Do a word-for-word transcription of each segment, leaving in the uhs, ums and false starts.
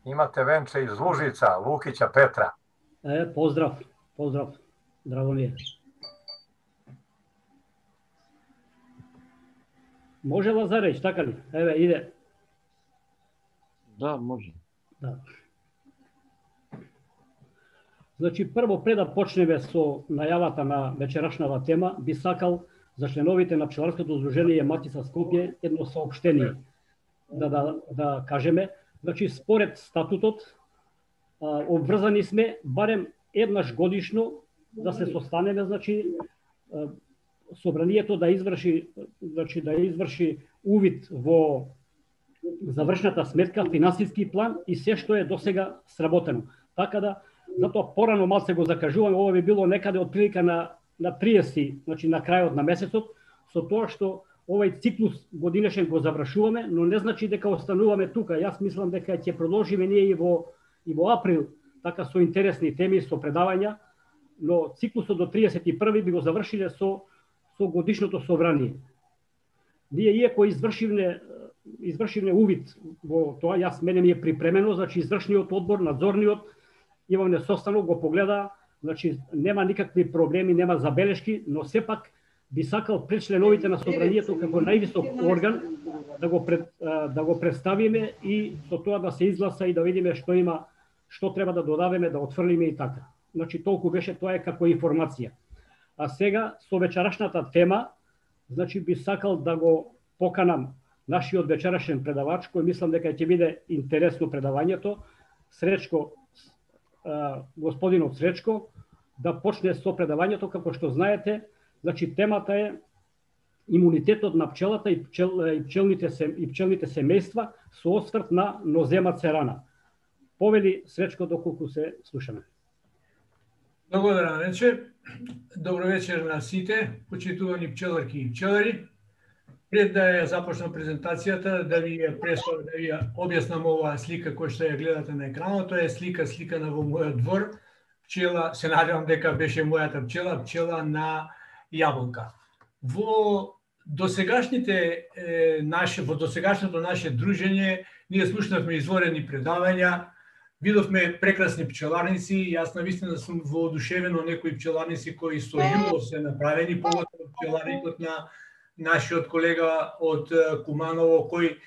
Имате венче из Лужица, Лукиća Петра. Е, поздрав, поздрав, драго ми е. Може Лазаревич, така ли? Еве, иде. Да, може. Да. Значи, прво, пред да почнеме со најавата на вечерашната тема, би сакал за членовите на Пчеларското здружение Матица Скопје едно соопштение да, да, да кажеме. Значи, според статутот, а, обврзани сме барем еднаш годишно да се состанеме, значи, а, собранието да изврши, значи, да изврши увид во завршната сметка, финансиски план и се што е досега сработено. Така да, затоа порано малце го закажуваме, ова би било некаде од прилика на на триесети, значи на крајот на месецот, со тоа што овој циклус годинешен го завршуваме, но не значи дека остануваме тука. Јас мислам дека ќе продолжиме ние и во и во април, така со интересни теми, со предавања, но циклусот до триесет и први би го завршиле со со годишното собрание. Ние иако извршивме извршивме увид во тоа, јас мене ми е припремено, значи извршниот одбор, надзорниот, имаме состанок, го погледа, значи нема никакви проблеми, нема забелешки, но сепак би сакал пред членовите на собранието како највисок орган да го пред, да го представиме и со тоа да се изгласа и да видиме што има, што треба да додадеме, да отфрлиме и така. Значи толку беше, тоа е како информација. А сега со вечерашната тема, значи би сакал да го поканам нашиот вечерашен предавач, кој мислам дека ќе биде интересно предавањето, Сречко, господинот Сречко, да почне со предавањето. Како што знаете, значи темата е имунитетот на пчелата и, пчел, и пчелните се, и пчелните семејства со осврт на нозема церана. Повели Сречко, доколку се слушаме. Благодарам вечер. Добро вечер на сите, почитувани пчеларки и пчелари. Пред да ја започнам презентацијата, да ви ја представам, да ви ја објаснам оваа слика која што ја гледате на екранот, тоа е слика сликана во мојот двор. Пчела, се надевам дека беше мојата пчела, пчела на јаболка. Во досегашните е, наше, во досегашното наше дружење ние слушнавме изворени предавања, видовме прекрасни пчеларници. Јас навистина сум воодушевен од некои пчеларници кои со љубов се направени, поготово пчеларникот на нашиот колега од Куманово, кој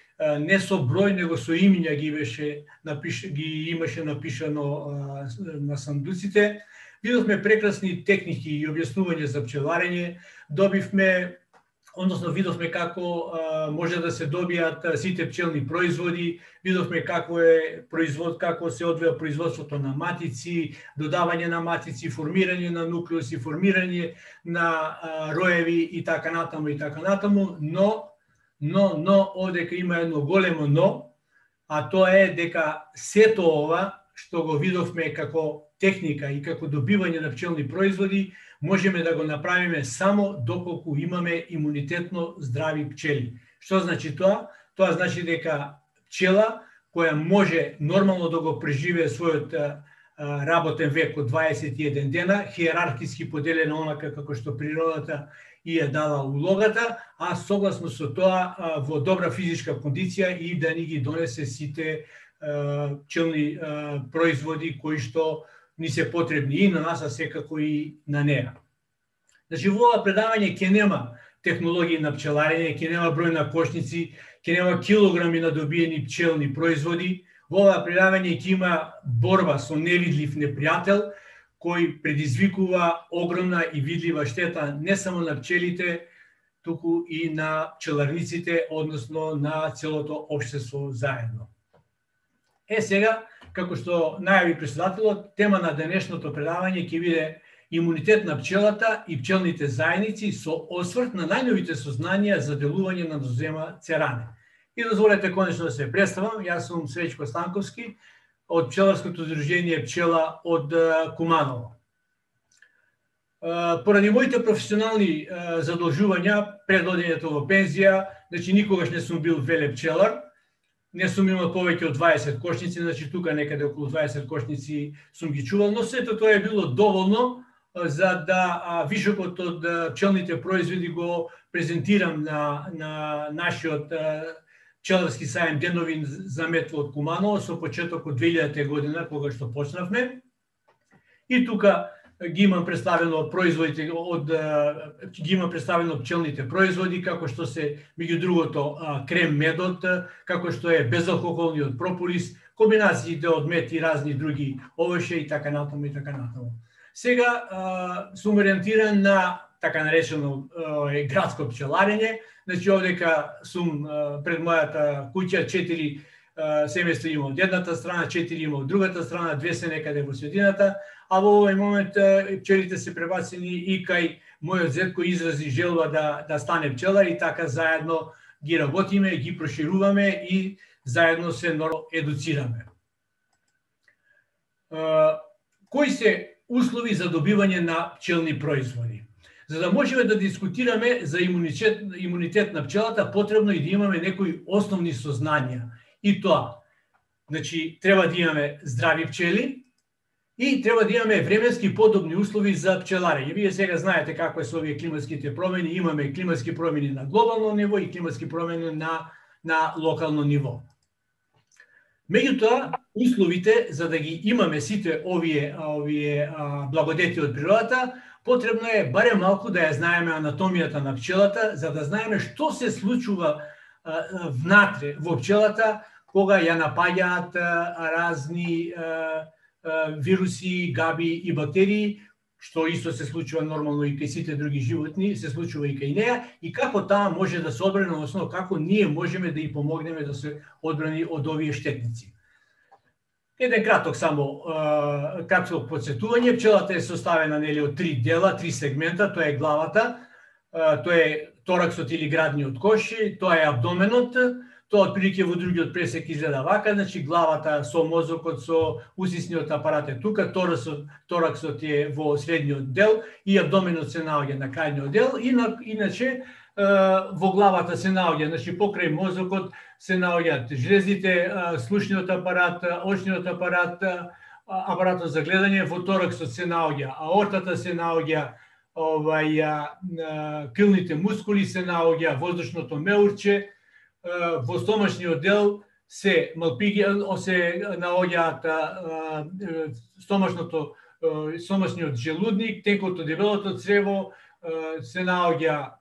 не со број, него со имиња ги беше напиш, ги имаше напишано на сандуците. Видовме прекрасни техники и објаснување за пчеларење, добивме, односно видовме како а, може да се добијат сите пчелни производи, видовме како е производ, како се одвија производството на матици, додавање на матици, формирање на нуклеуси, формирање на а, роеви и така натаму и така натаму, но но но одека има едно големо но, а тоа е дека сето ова што го видовме како техника и како добивање на пчелни производи, можеме да го направиме само доколку имаме имунитетно здрави пчели. Што значи тоа? Тоа значи дека пчела која може нормално да го преживее својот а, работен век од дваесет и еден дена, хиерархиски поделена онака како што природата и ја дала улогата, а согласно со тоа а, во добра физичка кондиција и да ни ги донесе сите а, пчелни а, производи кои што ни се потребни и на нас, а секако и на неа. Значи, во ова предавање ќе нема технологии на пчеларење, ќе нема број на кошници, ќе нема килограми на добиени пчелни производи. Во ова предавање ќе има борба со невидлив непријател, кој предизвикува огромна и видлива штета не само на пчелите, туку и на пчеларниците, односно на целото општество заедно. Е, сега, како што најави председателот, тема на денешното предавање ќе биде имунитет на пчелата и пчелните заедници со осврт на најновите сознанија за делување на нозема церане. И дозволете конечно да се представам, јас сум Сречко Станковски од Пчеларското здружение Пчела од Куманово. Поради моите професионални задолжувања пред одењето во пензија, значи никогаш не сум бил веле пчелар, не сум имал повеќе од дваесет кошници, значи тука некаде околу дваесет кошници сум ги чувал, но сето тоа е било доволно, за да вишокот од пчелните производи го презентирам на, на нашиот пчеларски сајм Денови за метло од Куманово со почеток од две илјадета година кога што почнавме. И тука ги имам представено производите од ги имам представено пчелните производи како што се меѓу другото крем медот, како што е безалкохолниот прополис, комбинациите од мед и разни други овоше и така натаму и така натаму. Сега сум ориентиран на така наречено градско пчеларење. Значи овдека сум пред мојата куќа, четири семејства има од едната страна, четири има од другата страна, две се некаде во средината, а во овој момент пчелите се пребацени и кај мојот зет кој изрази желба да, да стане пчелар и така заедно ги работиме, ги прошируваме и заедно се едуцираме. Кои се услови за добивање на пчелни производи? За да можеме да дискутираме за имунитет, имунитет на пчелата, потребно и да имаме некои основни сознања. И тоа, значи, треба да имаме здрави пчели и треба да имаме временски подобни услови за пчеларење. Вие сега знаете како е со овие климатските промени, имаме климатски промени на глобално ниво и климатски промени на, на локално ниво. Меѓутоа, условите за да ги имаме сите овие, овие а, благодети од природата, потребно е барем малку да ја знаеме анатомијата на пчелата, за да знаеме што се случува а, внатре во пчелата кога ја напаѓаат разни а, а, вируси, габи и бактерии, што исто се случува нормално и кај сите други животни, се случува и кај неа, и како таа може да се одбрани, односно како ние можеме да ја помогнеме да се одбрани од овие штетници. Еден краток само кратко подсетување. Пчелата е составена нели од три дела, три сегмента. Тоа е главата, тоа е тораксот или градниот кош, тоа е абдоменот, тоа отприлike во другиот пресек изгледа вака, значи главата со мозокот, со усисниот апарат е тука, тораксот, тораксот е во средниот дел и абдоменот се наоѓа на крајниот дел, и на, иначе во главата се наоѓа, значи покрај мозокот се наоѓаат жлезите, слушниот апарат, очниот апарат, апаратот за гледање, во тораксот се наоѓа аортата, се наоѓа овај крилните мускули, се наоѓа воздушното меурче, во стомашниот дел се малпиги, се наоѓаат стомашното стомашниот желудник, тенкото дебелото црево, се наоѓа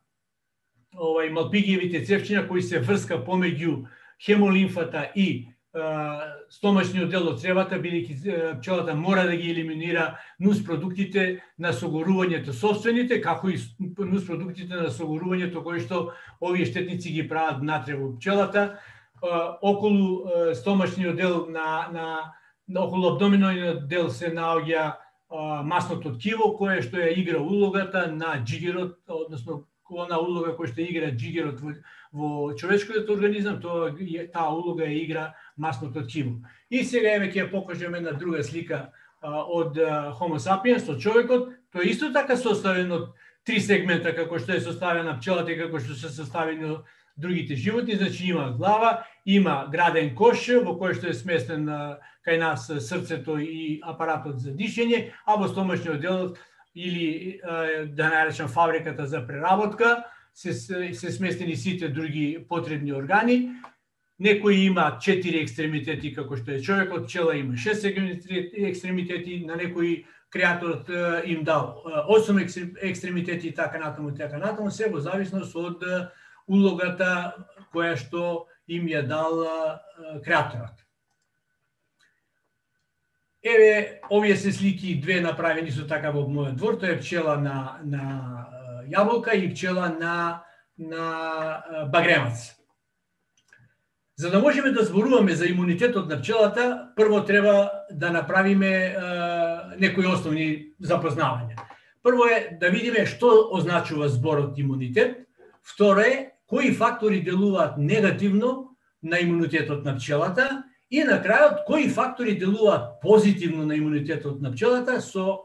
овај малпигиевите цевчиња кои се врска помеѓу хемолимфата и стомашниот дел од цревата, бидејќи пчелата мора да ги елиминира нуспродуктите на согорувањето собствените, како и нуспродуктите на согорувањето кои што овие штетници ги прават внатре во пчелата. Околу стомашниот дел на, на, на околу абдоминалниот дел се наоѓа масното ткиво, кое што ја игра улогата на джигерот, односно она улога која што игра джигерот во, во човечкиот организам, тоа таа улога ја игра масното ткиво. И сега еве ќе ја покажеме една друга слика а, од а, Homo sapiens, од човекот. Тоа е исто така составен од три сегмента, како што е составена пчелата и како што се составени другите животни. Значи има глава, има граден кош во кој што е сместен а, кај нас срцето и апаратот за дишење, а во стомашниот дел или да наречам фабриката за преработка, се, се сместени сите други потребни органи. Некои има четири екстремитети, како што е човекот, пчела има шест екстремитети, на некои креаторот им дал осум екстремитети и така натаму, така натаму, се во зависност од улогата која што им ја дал креаторот. Еве, овие се слики две направени со така во мојот двор, тоа е пчела на, на јаболка и пчела на, на багремац. За да можеме да зборуваме за имунитетот на пчелата, прво треба да направиме е, некои основни запознавања. Прво е да видиме што означува зборот имунитет, второ е кои фактори делуваат негативно на имунитетот на пчелата, и на крајот, кои фактори делуваат позитивно на имунитетот на пчелата со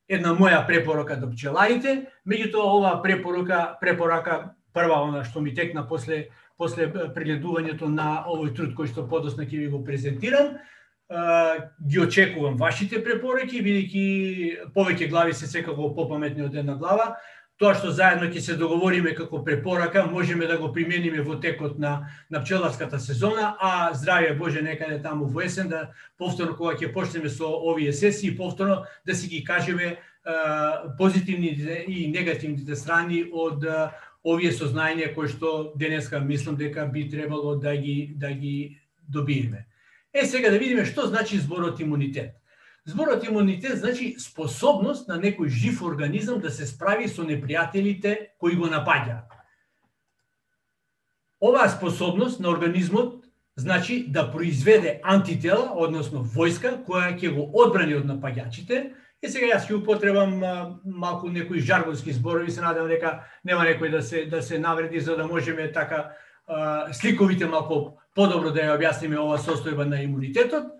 една моја препорака до пчеларите. Меѓутоа, оваа препорака, препорака прва она што ми текна после, после прегледувањето на овој труд кој што подоцна ќе ви го презентирам, ги очекувам вашите препораки, бидејќи повеќе глави се секако попаметни од една глава. Тоа што заедно ќе се договориме како препорака, можеме да го примениме во текот на, на пчеларската сезона, а здравје Боже некаде таму во есен, да повторно кога ќе почнеме со овие сесии, повторно да си ги кажеме а, позитивните и негативните страни од а, овие сознања кои што денеска мислам дека би требало да ги, да ги добиеме. Е, сега да видиме што значи зборот имунитет. Зборот имунитет значи способност на некој жив организам да се справи со непријателите кои го напаѓаат. Оваа способност на организмот значи да произведе антитела, односно војска, која ќе го одбрани од напаѓачите. И сега јас ќе употребам а, малку некои жаргонски зборови, се надевам дека нема некој да се да се навреди, за да можеме така а, сликовите малку подобро да ја објасниме ова состојба на имунитетот.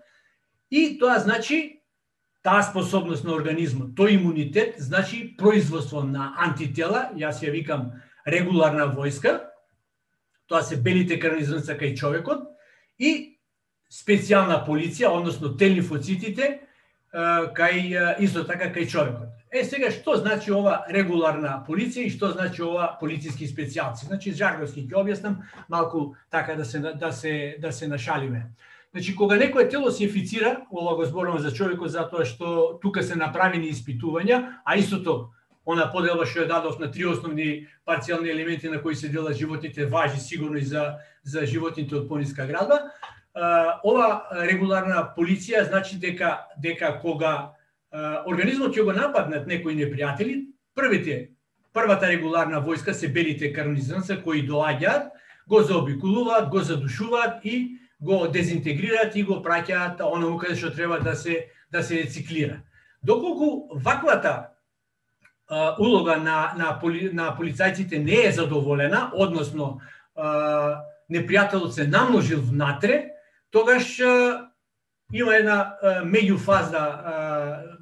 И тоа значи таа способност на организмот, тој имунитет, значи производство на антитела, јас ја викам регуларна војска, тоа се белите крвни зрнца кај човекот, и специјална полиција, односно Т-лимфоцитите, кај исто така кај човекот. Е, сега што значи ова регуларна полиција и што значи ова полициски специјалци? Значи жаргонски ќе објаснам малку така да се да се да се нашалиме. Значи, кога некое тело се инфицира, ова го зборувам за човекот затоа што тука се направени испитувања, а истото, она поделба што ја дадов на три основни парцијални елементи на кои се делат животните, важи сигурно и за, за животните од пониска градба. Ова регуларна полиција значи дека, дека кога организмот ќе го нападнат некои непријатели, првите, првата регуларна војска се белите крвни зрнца кои доаѓаат, го заобиколуваат, го задушуваат и го дезинтегрираат и го праќаат онаму каде што треба да се да се рециклира. Доколку ваквата а, улога на на, поли, на полицајците не е задоволена, односно а, непријателот се намножил внатре, тогаш а, има една а, меѓуфазна а,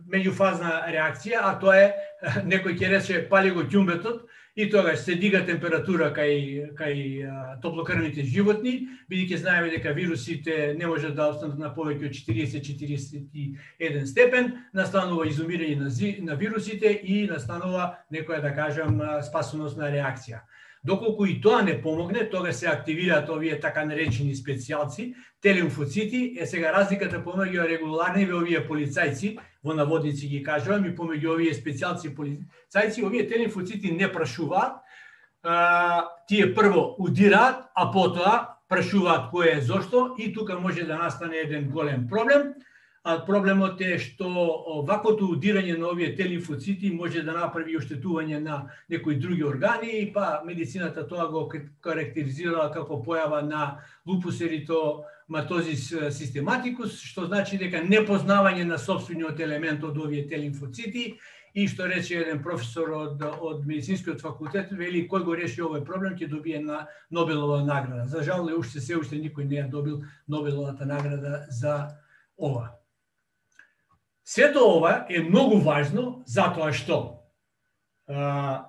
меѓуфазна реакција, а тоа е некој ќе рече пали го ќумбетот, и тогаш се дига температура кај кај а, топлокрвните животни, бидејќи знаеме дека вирусите не можат да останат на повеќе од четириесет до четириесет и еден степен, настанува изумирање на, на вирусите и настанува некоја, да кажам, спасоносна реакција. Доколку и тоа не помогне, тогаш се активираат овие така наречени специјалци, Т-лимфоцити. Е, сега разликата помеѓу регуларните овие полицајци, во наводници ги кажувам, и помеѓу овие специјалци полицајци, овие Т-лимфоцити не прашуваат, а, тие прво удираат, а потоа прашуваат кој е зошто, и тука може да настане еден голем проблем. А проблемот е што ваквото удирање на овие Т-лимфоцити може да направи оштетување на некои други органи, па медицината тоа го карактеризирала како појава на лупус еритоматозис систематикус, што значи дека непознавање на сопствениот елемент од овие Т-лимфоцити, и што рече еден професор од, од медицинскиот факултет, вели кој го реши овој проблем ќе добие на Нобелова награда. За жал, уште се уште никој не ја добил Нобеловата награда за ова. Сето ова е многу важно затоа што а,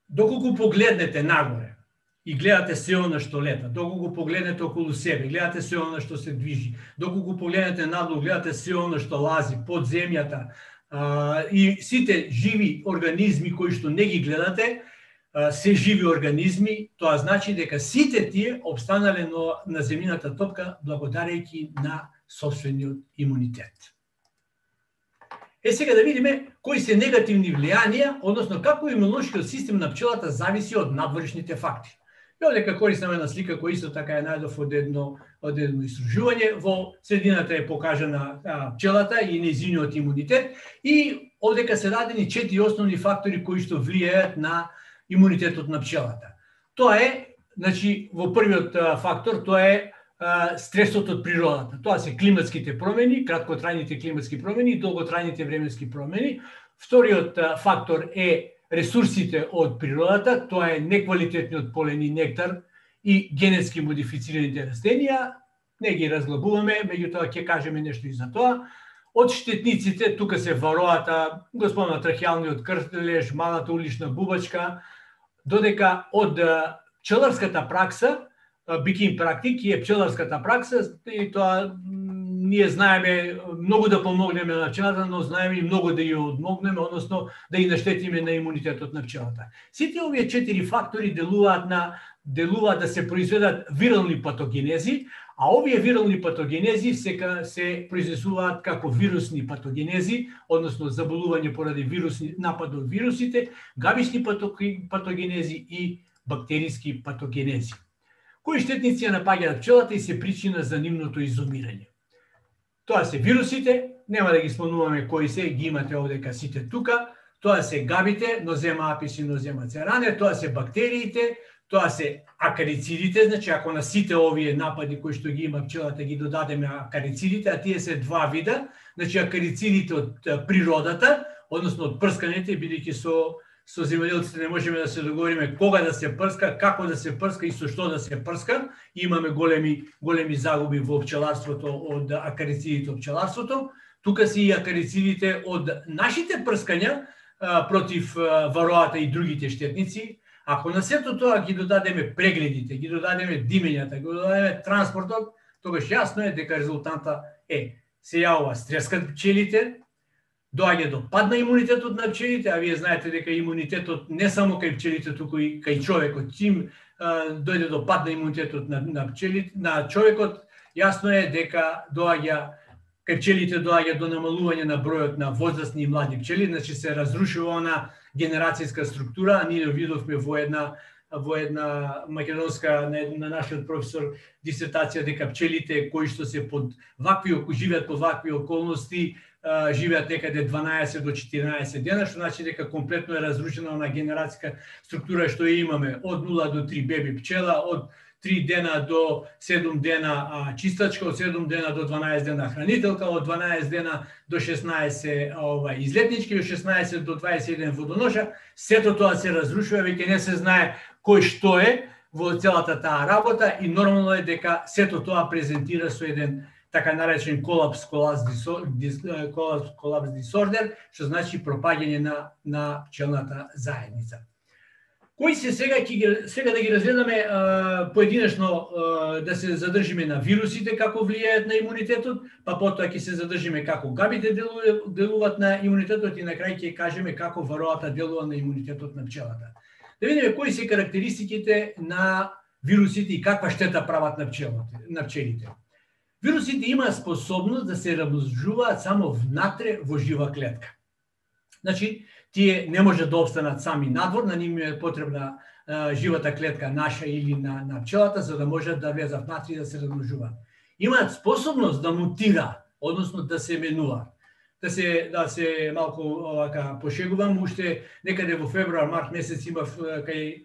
доколку погледнете нагоре и гледате се она што лета, доколку погледнете околу себе, гледате се она што се движи, доколку погледнете надолу, гледате се она што лази под земјата, а, и сите живи организми кои што не ги гледате, а, се живи организми, тоа значи дека сите тие обстанале на, на земјината топка благодарејќи на сопствениот имунитет. Е, сега да видиме кои се негативни влијанија, односно како имунолошкиот систем на пчелата зависи од надворешните фактори. И овде користам една слика која исто така е најдов од едно, од едно истражување. Во средината е покажана а, пчелата и нејзиниот имунитет, и овдека се дадени четири основни фактори кои што влијаат на имунитетот на пчелата. Тоа е, значи, во првиот а, фактор, тоа е стресот од природата. Тоа се климатските промени, краткотрајните климатски промени и долготрајните временски промени. Вториот фактор е ресурсите од природата, тоа е неквалитетниот полен и нектар и генетски модифицираните растенија. Не ги разглабуваме, меѓутоа ќе кажеме нешто и за тоа. Од штетниците, тука се вароата, господна трахеалниот крстележ, малата улична бубачка, додека од пчеларската пракса, бикин практик, е пчеларската пракса, и тоа ние знаеме многу да помогнеме на пчелата, но знаеме и многу да ја одмогнеме, односно да ја наштетиме на имунитетот на пчелата. Сите овие четири фактори делуваат на делуваат да се произведат вирални патогенези, а овие вирални патогенези се се произнесуваат како вирусни патогенези, односно заболување поради вирусни напад од вирусите, габични патогенези и бактериски патогенези. Кои штетници ја напаѓаат пчелата и се причина за нивното изумирање. Тоа се вирусите, нема да ги спомнуваме кои се, ги имате овдека сите тука, тоа се габите, нозема апис и нозема церане, тоа се бактериите, тоа се акарицидите, значи ако на сите овие напади кои што ги има пчелата ги додадеме акарицидите, а тие се два вида, значи акарицидите од природата, односно од прскањето, бидејќи со со земјоделците не можеме да се договориме кога да се прска, како да се прска и со што да се прска. Имаме големи големи загуби во пчеларството од акарицидите од пчеларството. Тука се и акарицидите од нашите прскања а, против а, вароата и другите штетници. Ако на сето тоа ги додадеме прегледите, ги додадеме димењата, ги додадеме транспортот, тогаш јасно е дека резултанта е се јавува стрес кај пчелите, доаѓа до пад на имунитетот на пчелите, а вие знаете дека имунитетот не само кај пчелите, туку и кај човекот. Чим а, дојде до пад на имунитетот на, на пчелите, на човекот, јасно е дека доаѓа кај пчелите доаѓа до намалување на бројот на возрастни и млади пчели, значи се разрушува она генерацијска структура, а ние видовме во една во една македонска на, на нашиот професор дисертација дека пчелите кои што се под вакви живеат под вакви околности живеат некаде дванаесет до четиринаесет дена, што значи дека комплетно е разрушена на генерацијска структура што имаме од нула до три беби пчела, од три дена до седум дена а, чистачка, од седум дена до дванаесет дена хранителка, од дванаесет дена до шеснаесет ова, излетнички, од шеснаесет до дваесет и еден водоноша. Сето тоа се разрушува, веќе не се знае кој што е во целата таа работа и нормално е дека сето тоа презентира со еден така наречен колапс колапс дисордер, што значи пропаѓање на на пчелната заедница. Кои се сега ќе ги сега да ги разгледаме а, поединечно а, да се задржиме на вирусите како влијаат на имунитетот, па потоа ќе се задржиме како габите делуваат, делуваат на имунитетот и на крај ќе кажеме како вароата делува на имунитетот на пчелата. Да видиме кои се карактеристиките на вирусите и каква штета прават на пчелите, на пчелите. Вирусите имаат способност да се размножуваат само внатре во жива клетка. Значи, тие не можат да обстанат сами надвор, на нив е потребна а, живата клетка наша или на, на пчелата, за да можат да влезат внатре и да се размножуваат. Имаат способност да мутира, односно да се менуваат. Да се, да се малку овака пошегувам, уште некаде во февруар, март месец имав кај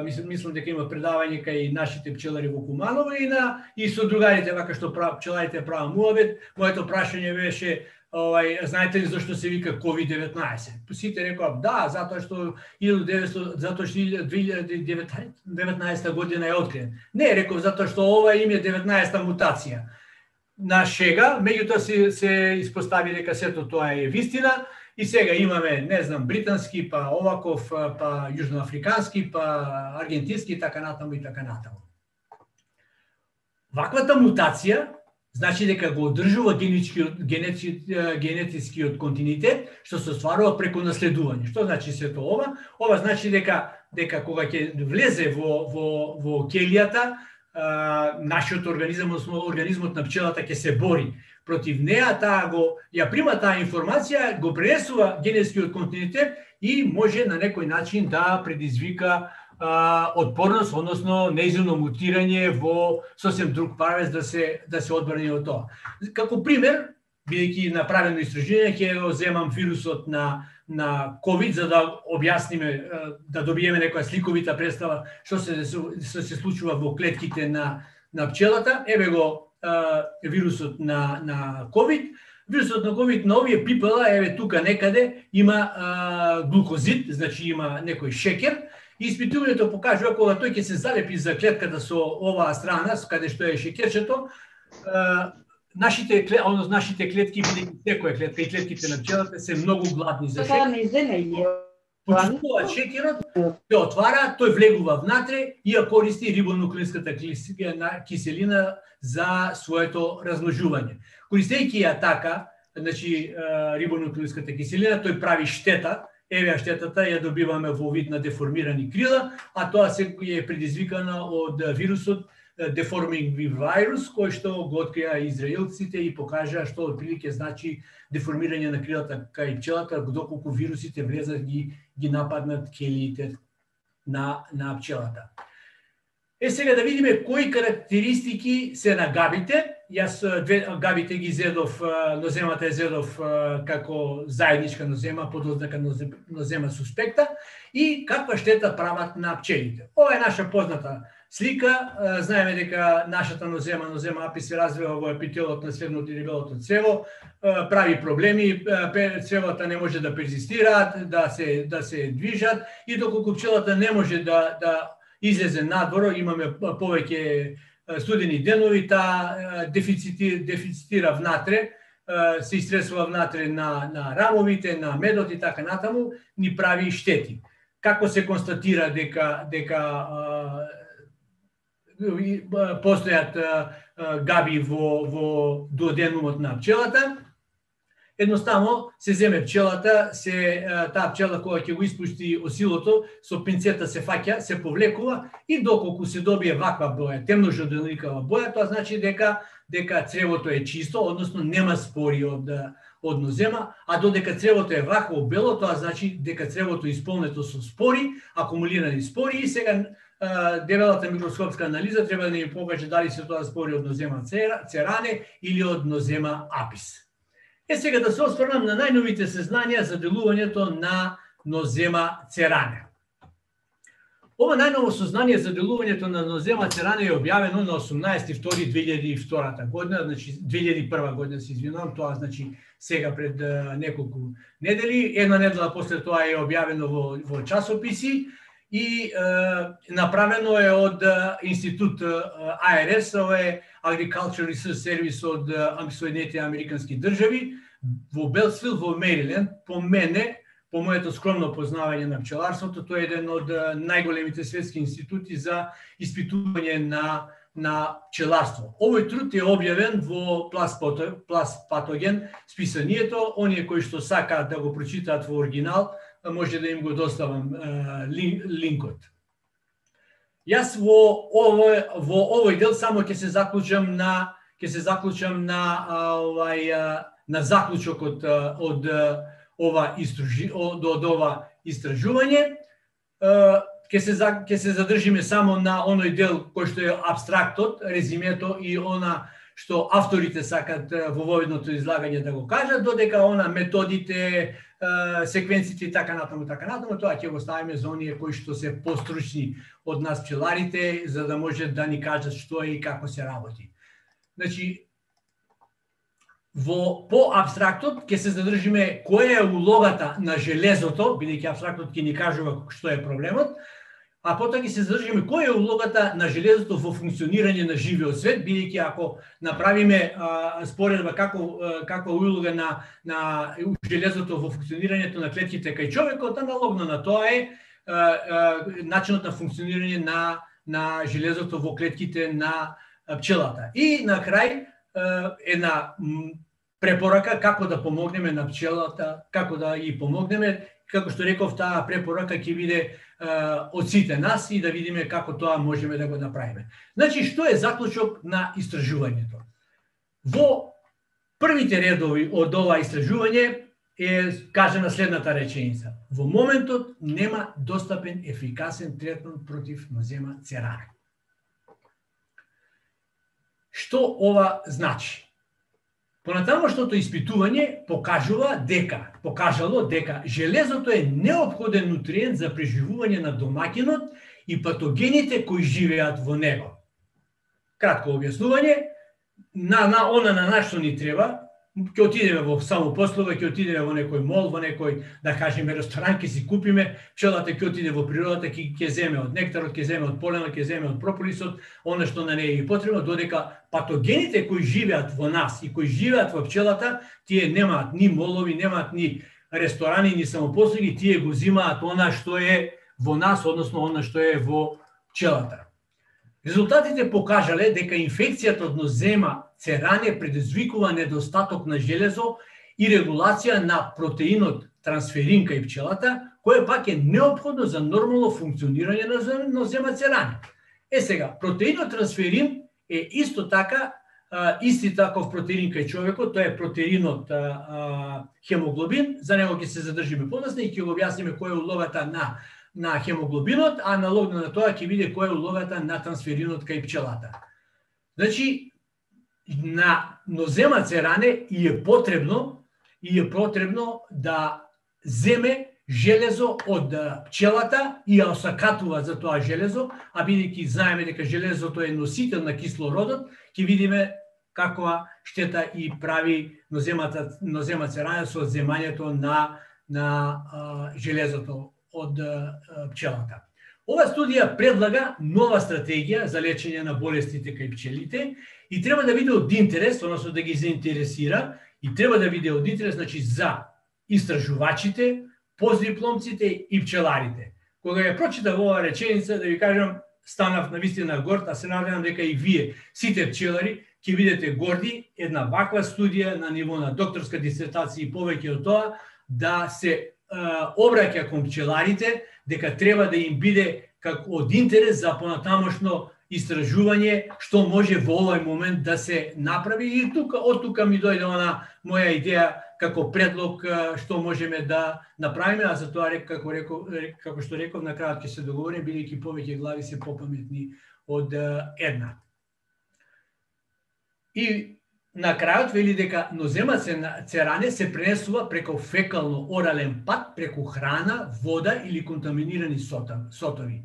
Мислам, мислам дека има предавање кај нашите пчелари во Куманово и на и со другарите вака што прав, пчеларите прават муабет. Моето прашање беше, овај, знаете ли зашто се вика ковид деветнаесет? Сите рекоа да, затоа што илјада и деветстотини затоа што две илјади и деветнаесета година е откриен. Не, реков затоа што ова им е деветнаесета мутација. На шега, меѓутоа се се испостави дека сето тоа е вистина. И сега имаме, не знам, британски, па оваков, па јужноафрикански, па аргентински, така натаму и така натаму. Ваквата мутација значи дека го одржува генетичкиот генетискиот континуитет, што се остварува преку наследување. Што значи сето ова? Ова значи дека дека кога ќе влезе во во во келијата, нашиот организам, организмот на пчелата ќе се бори против неа, таа го ја прима таа информација, го пренесува генетскиот континуитет и може на некој начин да предизвика а, отпорност, односно неизменно мутирање во сосем друг правец да се да се одбрани од тоа. Како пример, бидејќи направено истражување, ќе го земам вирусот на на ковид за да објасниме, да добиеме некоја сликовита представа што се што се случува во клетките на на пчелата. Еве го вирусот на на ковид. Вирусот на ковид на овие пипала, еве тука некаде има а, глукозид, значи има некој шекер. И испитувањето покажува кога тој ќе се залепи за клетката со оваа страна, каде што е шекерчето, а, нашите односно нашите клетки, бидејќи секоја клетка и клетките на пчелата се многу гладни за шекер. почистува шеќерот, се отвара, тој влегува внатре и ја користи рибонуклеинската киселина за своето размножување. Користејќи ја така, значи рибонуклеинската киселина, тој прави штета. Еве штетата ја добиваме во вид на деформирани крила, а тоа се е предизвикано од вирусот Deforming Virus, кој што го открија израелците и покажа што отприлике значи деформирање на крилата кај пчелата, доколку вирусите влезат ги ги нападнат келиите на на пчелата. Е сега да видиме кои карактеристики се на габите. Јас две габите ги зедов, ноземата е зедов како заедничка нозема, подознака нозема суспекта и каква штета прават на пчелите. Ова е наша позната слика. Знаеме дека нашата нозема, нозема апис се развива во епителот на средното и дебелото цево, прави проблеми, цевата не може да перзистираат, да се да се движат и доколку пчелата не може да да излезе надвор, имаме повеќе студени денови, таа дефицити, дефицитира внатре, се истресува внатре на, на рамовите, на медот и така натаму, ни прави штети. Како се констатира дека, дека а, постојат а, габи во, во дуоденумот на пчелата, едноставно се земе пчелата, се таа пчела кога ќе го испушти осилото, со пинцета се фаќа, се повлекува и доколку се добие ваква боја, темно-жълтеникава боја, тоа значи дека дека цревото е чисто, односно нема спори од од нозема, а додека цревото е вакво бело, тоа значи дека цревото е исполнето со спори, акумулирани спори и сега дебелата микроскопска анализа треба да ни покаже дали се тоа спори од нозема церане или од нозема апис. Е сега да се осврнам на најновите сезнања за делувањето на нозема церане. Ова најново сознание за делувањето на нозема церане е објавено на осумнаесети втори две илјади и втора година, значи две илјади и прва година се извинувам, тоа значи сега пред uh, неколку недели, една недела после тоа е објавено во, во часописи и uh, направено е од uh, институт uh, А Р С, ова е Agricultural Research Service од uh, Соединетите американски држави, во Белсвил, во Мериленд. По мене, по моето скромно познавање на пчеларството, тоа е еден од најголемите светски институти за испитување на на пчеларство. Овој труд е објавен во Плас Патоген списанието. Оние кои што сакаат да го прочитаат во оригинал, може да им го доставам лин, линкот. Јас во овој во овој дел само ќе се заклучам на ќе се заклучам на овај на заклучокот од ова истражи од, од ова истражување. Ќе се ќе се задржиме само на оној дел кој што е апстрактот, резимето и она што авторите сакат во воведното излагање да го кажат, додека она методите, секвенците и така натаму, така натаму, тоа ќе го ставиме за оние кои што се постручни од нас пчеларите, за да може да ни кажат што е и како се работи. Значи, во по апстрактот ќе се задржиме која е улогата на железото, бидејќи апстрактот ќе ни кажува што е проблемот, а потоа ќе се задржиме која е улогата на железото во функционирање на живиот свет, бидејќи ако направиме а, споредба како каква улога на на железото во функционирањето на клетките кај човекот, аналогно на тоа е а, а, начинот на функционирање на на железото во клетките на пчелата. И на крај една препорака како да помогнеме на пчелата, како да ги помогнеме, како што реков, таа препорака ќе биде од сите нас и да видиме како тоа можеме да го направиме. Значи, што е заклучок на истражувањето? Во првите редови од ова истражување е кажана следната реченица. Во моментот нема достапен ефикасен третман против нозема церане. Што ова значи? Понатамошното испитување покажува дека, покажало дека железото е неопходен нутриент за преживување на домаќинот и патогените кои живеат во него. Кратко објаснување, на, на она на нашто ни треба, ќе отидеме во самопослуга, ќе отидеме во некој мол, во некој, да кажеме, ресторан, ќе си купиме, пчелата ќе отиде во природата, ќе ќе земе од нектарот, ќе земе од поленот, ќе земе од прополисот, она што на неја е потребно, додека патогените кои живеат во нас и кои живеат во пчелата, тие немаат ни молови, немаат ни ресторани ни самопослуги, тие го зимаат она што е во нас, односно она што е во пчелата. Резултатите покажале дека инфекцијата од нозема церане предизвикува недостаток на железо и регулација на протеинот трансферин кај пчелата, кое пак е неопходно за нормално функционирање на нозема церане. Е сега, протеинот трансферин е исто така, исти таков протеин кај човекот, тоа е протеинот хемоглобин, за него ќе се задржиме подоцна и ќе го објасниме која е улогата на на хемоглобинот, а аналогно на тоа ќе биде која е улогата на трансферинот кај пчелата. Значи, на нозема церане и е потребно и е потребно да земе железо од пчелата и ја осакатува за тоа железо, а бидејќи знаеме дека железото е носител на кислородот, ќе видиме каква штета и прави ноземата нозема церане со земањето на на а, железото од а, пчелата. Ова студија предлага нова стратегија за лечење на болестите кај пчелите и треба да биде од интерес, односно да ги заинтересира и треба да биде од интерес, значи за истражувачите, постдипломците и пчеларите. Кога ја прочитав оваа реченица, да ви кажам, станав навистина горд, а се надевам дека и вие, сите пчелари, ќе бидете горди една ваква студија на ниво на докторска дисертација и повеќе од тоа, да се е, обраќа кон пчеларите, дека треба да им биде како од интерес за понатамошно истражување што може во овој момент да се направи и тука од тука ми дојде она моја идеја како предлог што можеме да направиме, а за тоа како реков, како што реков на крајот ќе се договориме, бидејќи повеќе глави се попаметни од една. И на крајот вели дека нозема церане се пренесува преку фекално-орален пат, преку храна, вода или контаминирани сотови.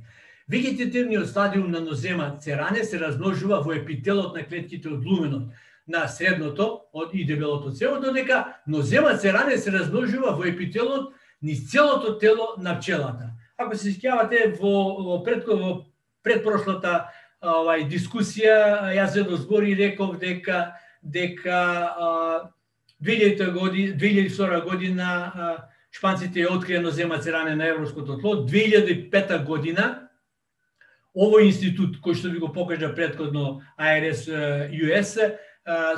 Вегетативниот стадиум на нозема церане се размножува во епителот на клетките од луменот на средното од и дебелото цело, додека нозема церане се размножува во епителот низ целото тело на пчелата. Ако се сеќавате во, во, пред, во предпрошлата овај дискусија, јас едно збори и реков дека дека две илјади и втора година шпанците ја открија нозема церане на европското тло, две илјади и пета година овој институт кој што ви го покажа претходно А Р С Ю С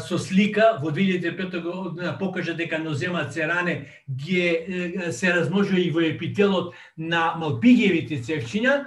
со слика во две илјади и пета година покажа дека нозема церане ги се размножува и во епителот на малпигиевите цевчиња,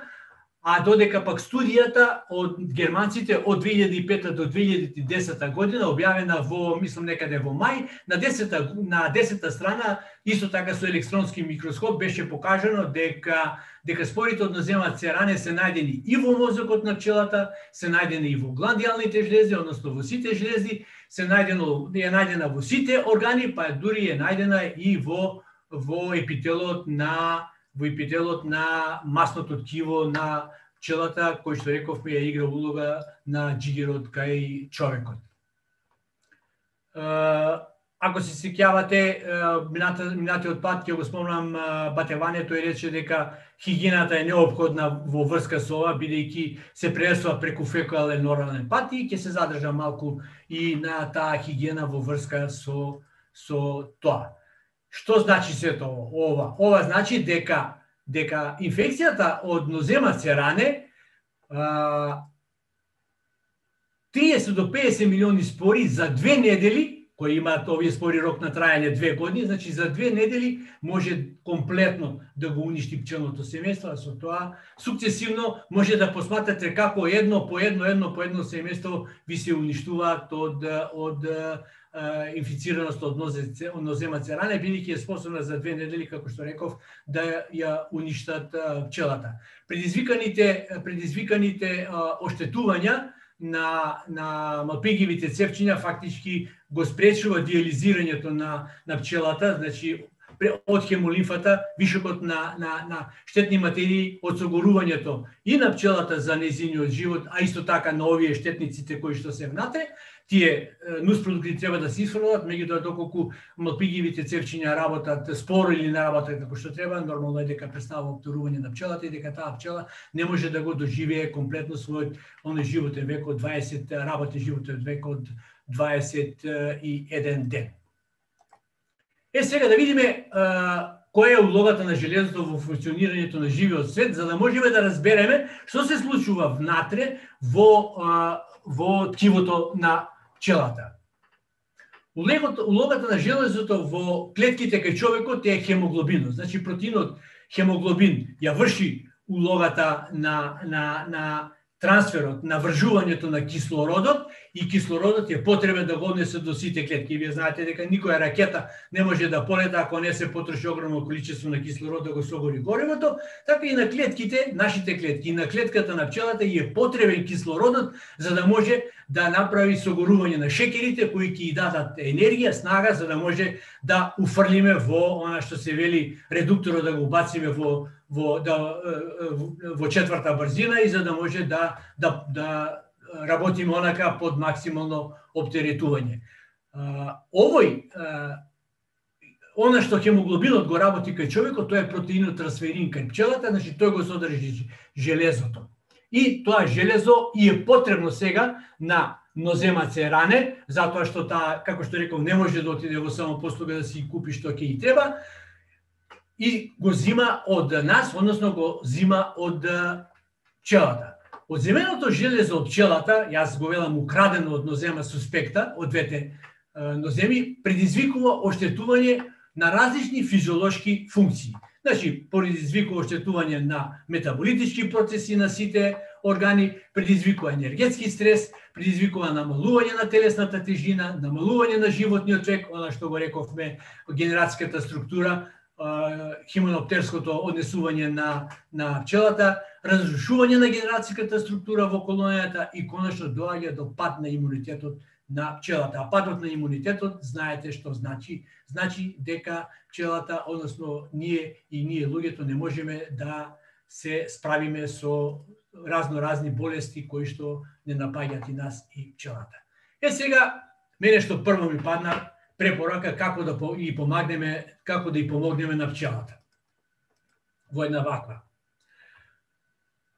а додека пак студијата од германците од две илјади и пета до две илјади и десета година објавена во, мислам некаде во мај, на десета на десета страна исто така со електронски микроскоп беше покажано дека дека спорите од нозема церане се најдени и во мозокот на пчелата, се најдени и во гландиалните жлези, односно во сите жлези, се најдено е најдена во сите органи, па дури е најдена и во во епителот на во епителот на масното ткиво на пчелата, кој што рековме ја игра улога на џигерот кај човекот. Ако се сеќавате, минатиот пат ќе го спомнам Батеване, тој рече дека хигиената е неопходна во врска со ова, бидејќи се пренесува преку фекален орален пат и ќе се задржа малку и на таа хигиена во врска со со тоа. Што значи сето ова? Ова значи дека дека инфекцијата од нозема церане триесет до педесет милиони спори за две недели, кои имаат овие спори рок на трајање две години, значи за две недели може комплетно да го уништи пчелното семејство, а со тоа сукцесивно може да посматрате како едно по едно, едно по едно семејство ви се уништуваат од од инфицираност од нозема церане, бидејќи е способна за две недели, како што реков, да ја уништат пчелата. Предизвиканите предизвиканите оштетувања на на малпигивите цевчиња фактички го спречува диализирањето на на пчелата, значи од хемолимфата, вишокот на на на штетни материи, од согорувањето и на пчелата за нејзиниот живот, а исто така на овие штетниците кои што се внатре. Тие нуспродукти треба да се исфрлат, меѓутоа доколку малпигивите цевчиња работат споро или не работат како што треба, нормално е дека представува обторување на пчелата и дека таа пчела не може да го доживее комплетно својот оној животен век од дваесет работен животен век од дваесет и еден ден. Е, сега да видиме која е улогата на железото во функционирањето на живиот свет, за да можеме да разбереме што се случува внатре во, во ткивото на пчелата. Улогата на железото во клетките кај човекот е хемоглобинот. Значи, протеинот хемоглобин ја врши улогата на, на, на трансферот, на вржувањето на кислородот, и кислородот е потребен да го однесе до сите клетки. Вие знаете дека никоја ракета не може да полета ако не се потроши огромно количество на кислород да го согори горивото, така и на клетките, нашите клетки, и на клетката на пчелата е потребен кислородот за да може да направи согорување на шекерите кои ќе ја дадат енергија, снага за да може да уфрлиме во она што се вели редукторот, да го бациме во во да во четврта брзина, и за да може да да да работиме онака под максимално оптеретување. Овој она што хемоглобинот го работи кај човекот, тоа е протеинот трансферин кај пчелата, значи тој го содржи железото. И тоа железо и е потребно сега на ноземаце ране, затоа што таа, како што реков, не може да отиде во самопослуга да си купи што ќе и треба, и го зима од нас, односно го зима од пчелата. Од земеното железо од пчелата, јас го велам украдено од нозема суспекта, од двете ноземи, предизвикува оштетување на различни физиолошки функции. Значи, предизвикува оштетување на метаболитички процеси на сите органи, предизвикува енергетски стрес, предизвикува намалување на телесната тежина, намалување на животниот век, она што го рековме, генерацијската структура, хименоптерското однесување на, на пчелата, разрушување на генерацијската структура во колонијата и конечно доаѓа до пад на имунитетот на пчелата. А падот на имунитетот, знаете што значи? Значи дека пчелата, односно ние и ние луѓето не можеме да се справиме со разно-разни болести кои што не напаѓаат и нас и пчелата. Е сега, мене што прво ми падна препорака како да и помагнеме, како да и помогнеме на пчелата. Во една ваква.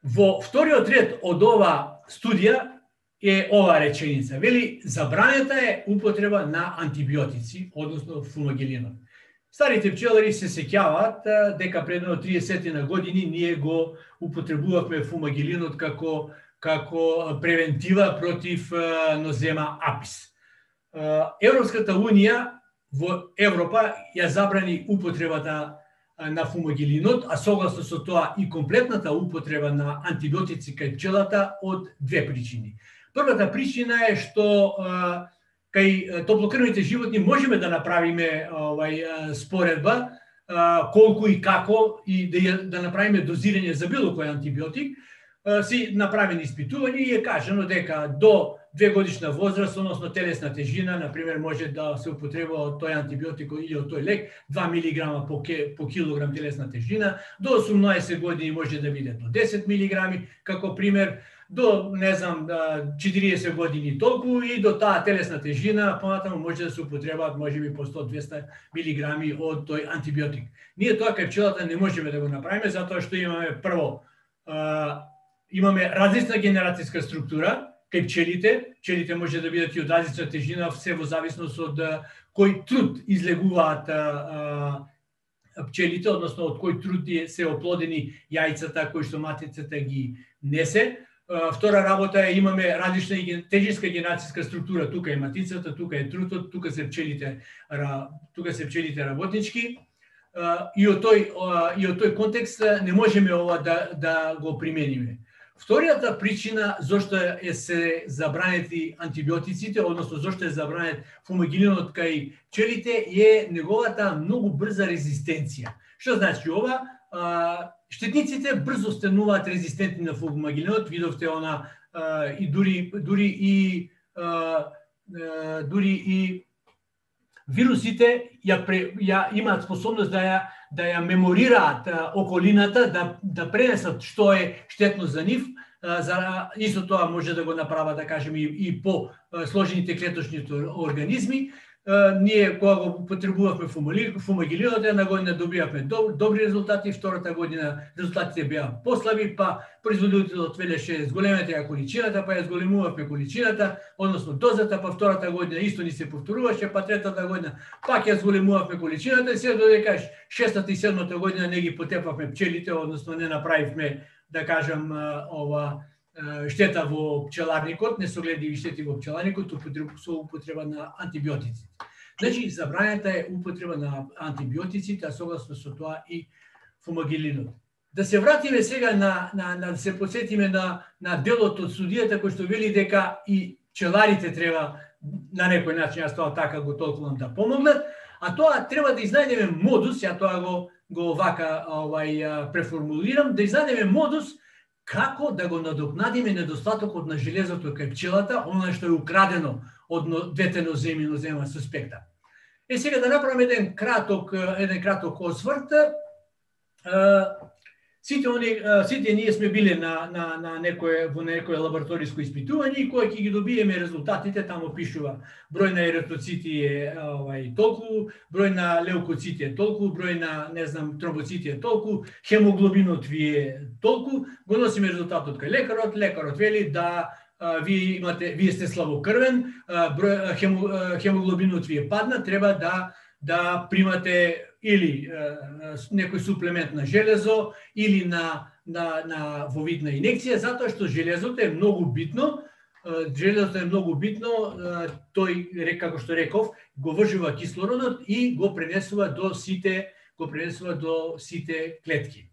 Во вториот ред од ова студија е ова реченица. Вели, забранета е употреба на антибиотици, односно фумагилинот. Старите пчелари се сеќаваат дека пред триесет на години ние го употребувавме фумагилинот како како превентива против нозема апис. Европската унија во Европа ја забрани употребата на фумагилинот, а согласно со тоа и комплетната употреба на антибиотици кај пчелата од две причини. Првата причина е што кај топлокрвните животни можеме да направиме овај споредба колку и како и да да направиме дозирање за било кој антибиотик. Си направени испитувања и е кажано дека до две годишна возраст, односно телесна тежина, например, може да се употребува од тој антибиотик или од тој лек два милиграма по, по килограм телесна тежина, до осумнаесет години може да биде до десет милиграми, како пример, до, не знам, четириесет години толку и до таа телесна тежина, понатаму може да се употребаат можеби по сто до двесте милиграми од тој антибиотик. Ние тоа кај пчелата не можеме да го направиме, затоа што имаме прво, имаме различна генерацијска структура, кај пчелите, пчелите може да бидат и од различна тежина, се во зависност од кој труд излегуваат пчелите, односно од кој труд се оплодени јајцата кои што матицата ги несе. Втора работа е имаме различна тежинска генерацијска структура, тука е матицата, тука е трутот, тука се пчелите, тука се пчелите работнички. И од тој и од тој контекст не можеме ова да да го примениме. Вторијата причина зошто е се забранети антибиотиците, односно зошто е забранет фумагилинот кај пчелите, е неговата многу брза резистенција. Што значи ова? Штетниците брзо стануваат резистентни на фумагилинот, видовте она и дури дури и дури и вирусите ја, ја имаат способност да ја да ја меморираат околината, да да пренесат што е штетно за нив. За исто тоа може да го направат, да кажеме, и, и по сложените клеточните организми. ние кога го употребувавме фумагилинот, една година добивавме добри резултати, втората година резултатите беа послаби, па производителот велеше зголемете ја количината, па ја зголемувавме количината, односно дозата, па втората година исто ни се повторуваше, па третата година пак ја зголемувавме количината и се додека шестата и седмата година не ги потепавме пчелите, односно не направивме, да кажам, ова штета во пчеларникот, несогледиви штети во пчеларникот со употреба на антибиотици. Значи, забрањата е употреба на антибиотиците, а согласно со тоа и фумагилинот. Да се вратиме сега на, на, на да се подсетиме на, на делот од судијата кој што вели дека и пчеларите треба на некој начин, јас тоа така го толкувам, да помогнат, а тоа треба да изнајдеме модус, ја тоа го, го вака овај, преформулирам, да изнајдеме модус како да го надокнадиме недостатокот на железото кај пчелата, она што е украдено од двете ноземи нозема суспекта. Е сега да направиме еден краток еден краток осврт. Сите они сите ние сме биле на на на некое во некое лабораториско испитување и кога ќе ги добиеме резултатите, таму пишува број на еритроцити е овај толку, број на леукоцити е толку, број на не знам тромбоцити е толку, хемоглобинот ви е толку, го носиме резултатот кај лекарот, лекарот вели да а, вие имате вие сте слабокрвен, а, број хемо, хемоглобинот ви е падна, треба да да примате или е, некој суплемент на железо или на на на во вид на инекција, затоа што железото е многу битно, е, железото е многу битно, е, тој како што реков, го вржува кислородот и го пренесува до сите го пренесува до сите клетки.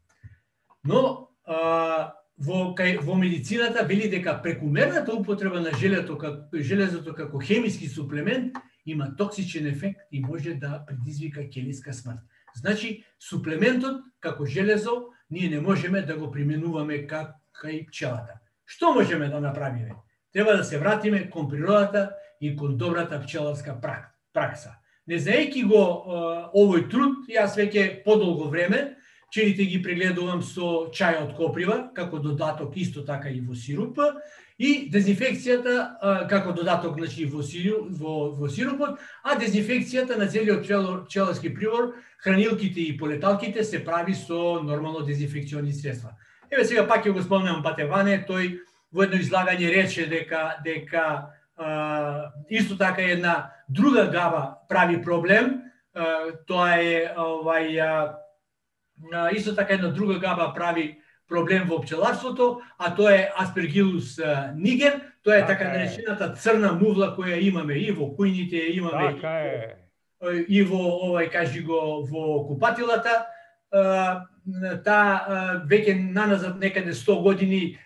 Но а, во кај во медицината вели дека прекумерната употреба на железото како железото како хемиски суплемент има токсичен ефект и може да предизвика келиска смрт. Значи, суплементот како железо ние не можеме да го применуваме кај пчелата. Што можеме да направиме? Треба да се вратиме кон природата и кон добрата пчеларска пракса. Не знаејќи го овој труд, јас веќе подолго време пчелите ги прегледувам со чај од коприва, како додаток исто така и во сируп, и дезинфекцијата како додаток, значи во сируп, во, во сирупот, а дезинфекцијата на целиот пчеларски прибор, хранилките и полеталките се прави со нормално дезинфекциони средства. Еве сега пак ќе го спомнам Патеване, тој во едно излагање рече дека дека а, исто така една друга габа прави проблем, а, тоа е овај а, исто така една друга габа прави проблем во пчеларството, а тоа е Aspergillus niger, тоа е така наречената црна мувла која имаме и во кујните, имаме така е. И во овај кажи го во купатилата. Таа веќе наназад некаде сто години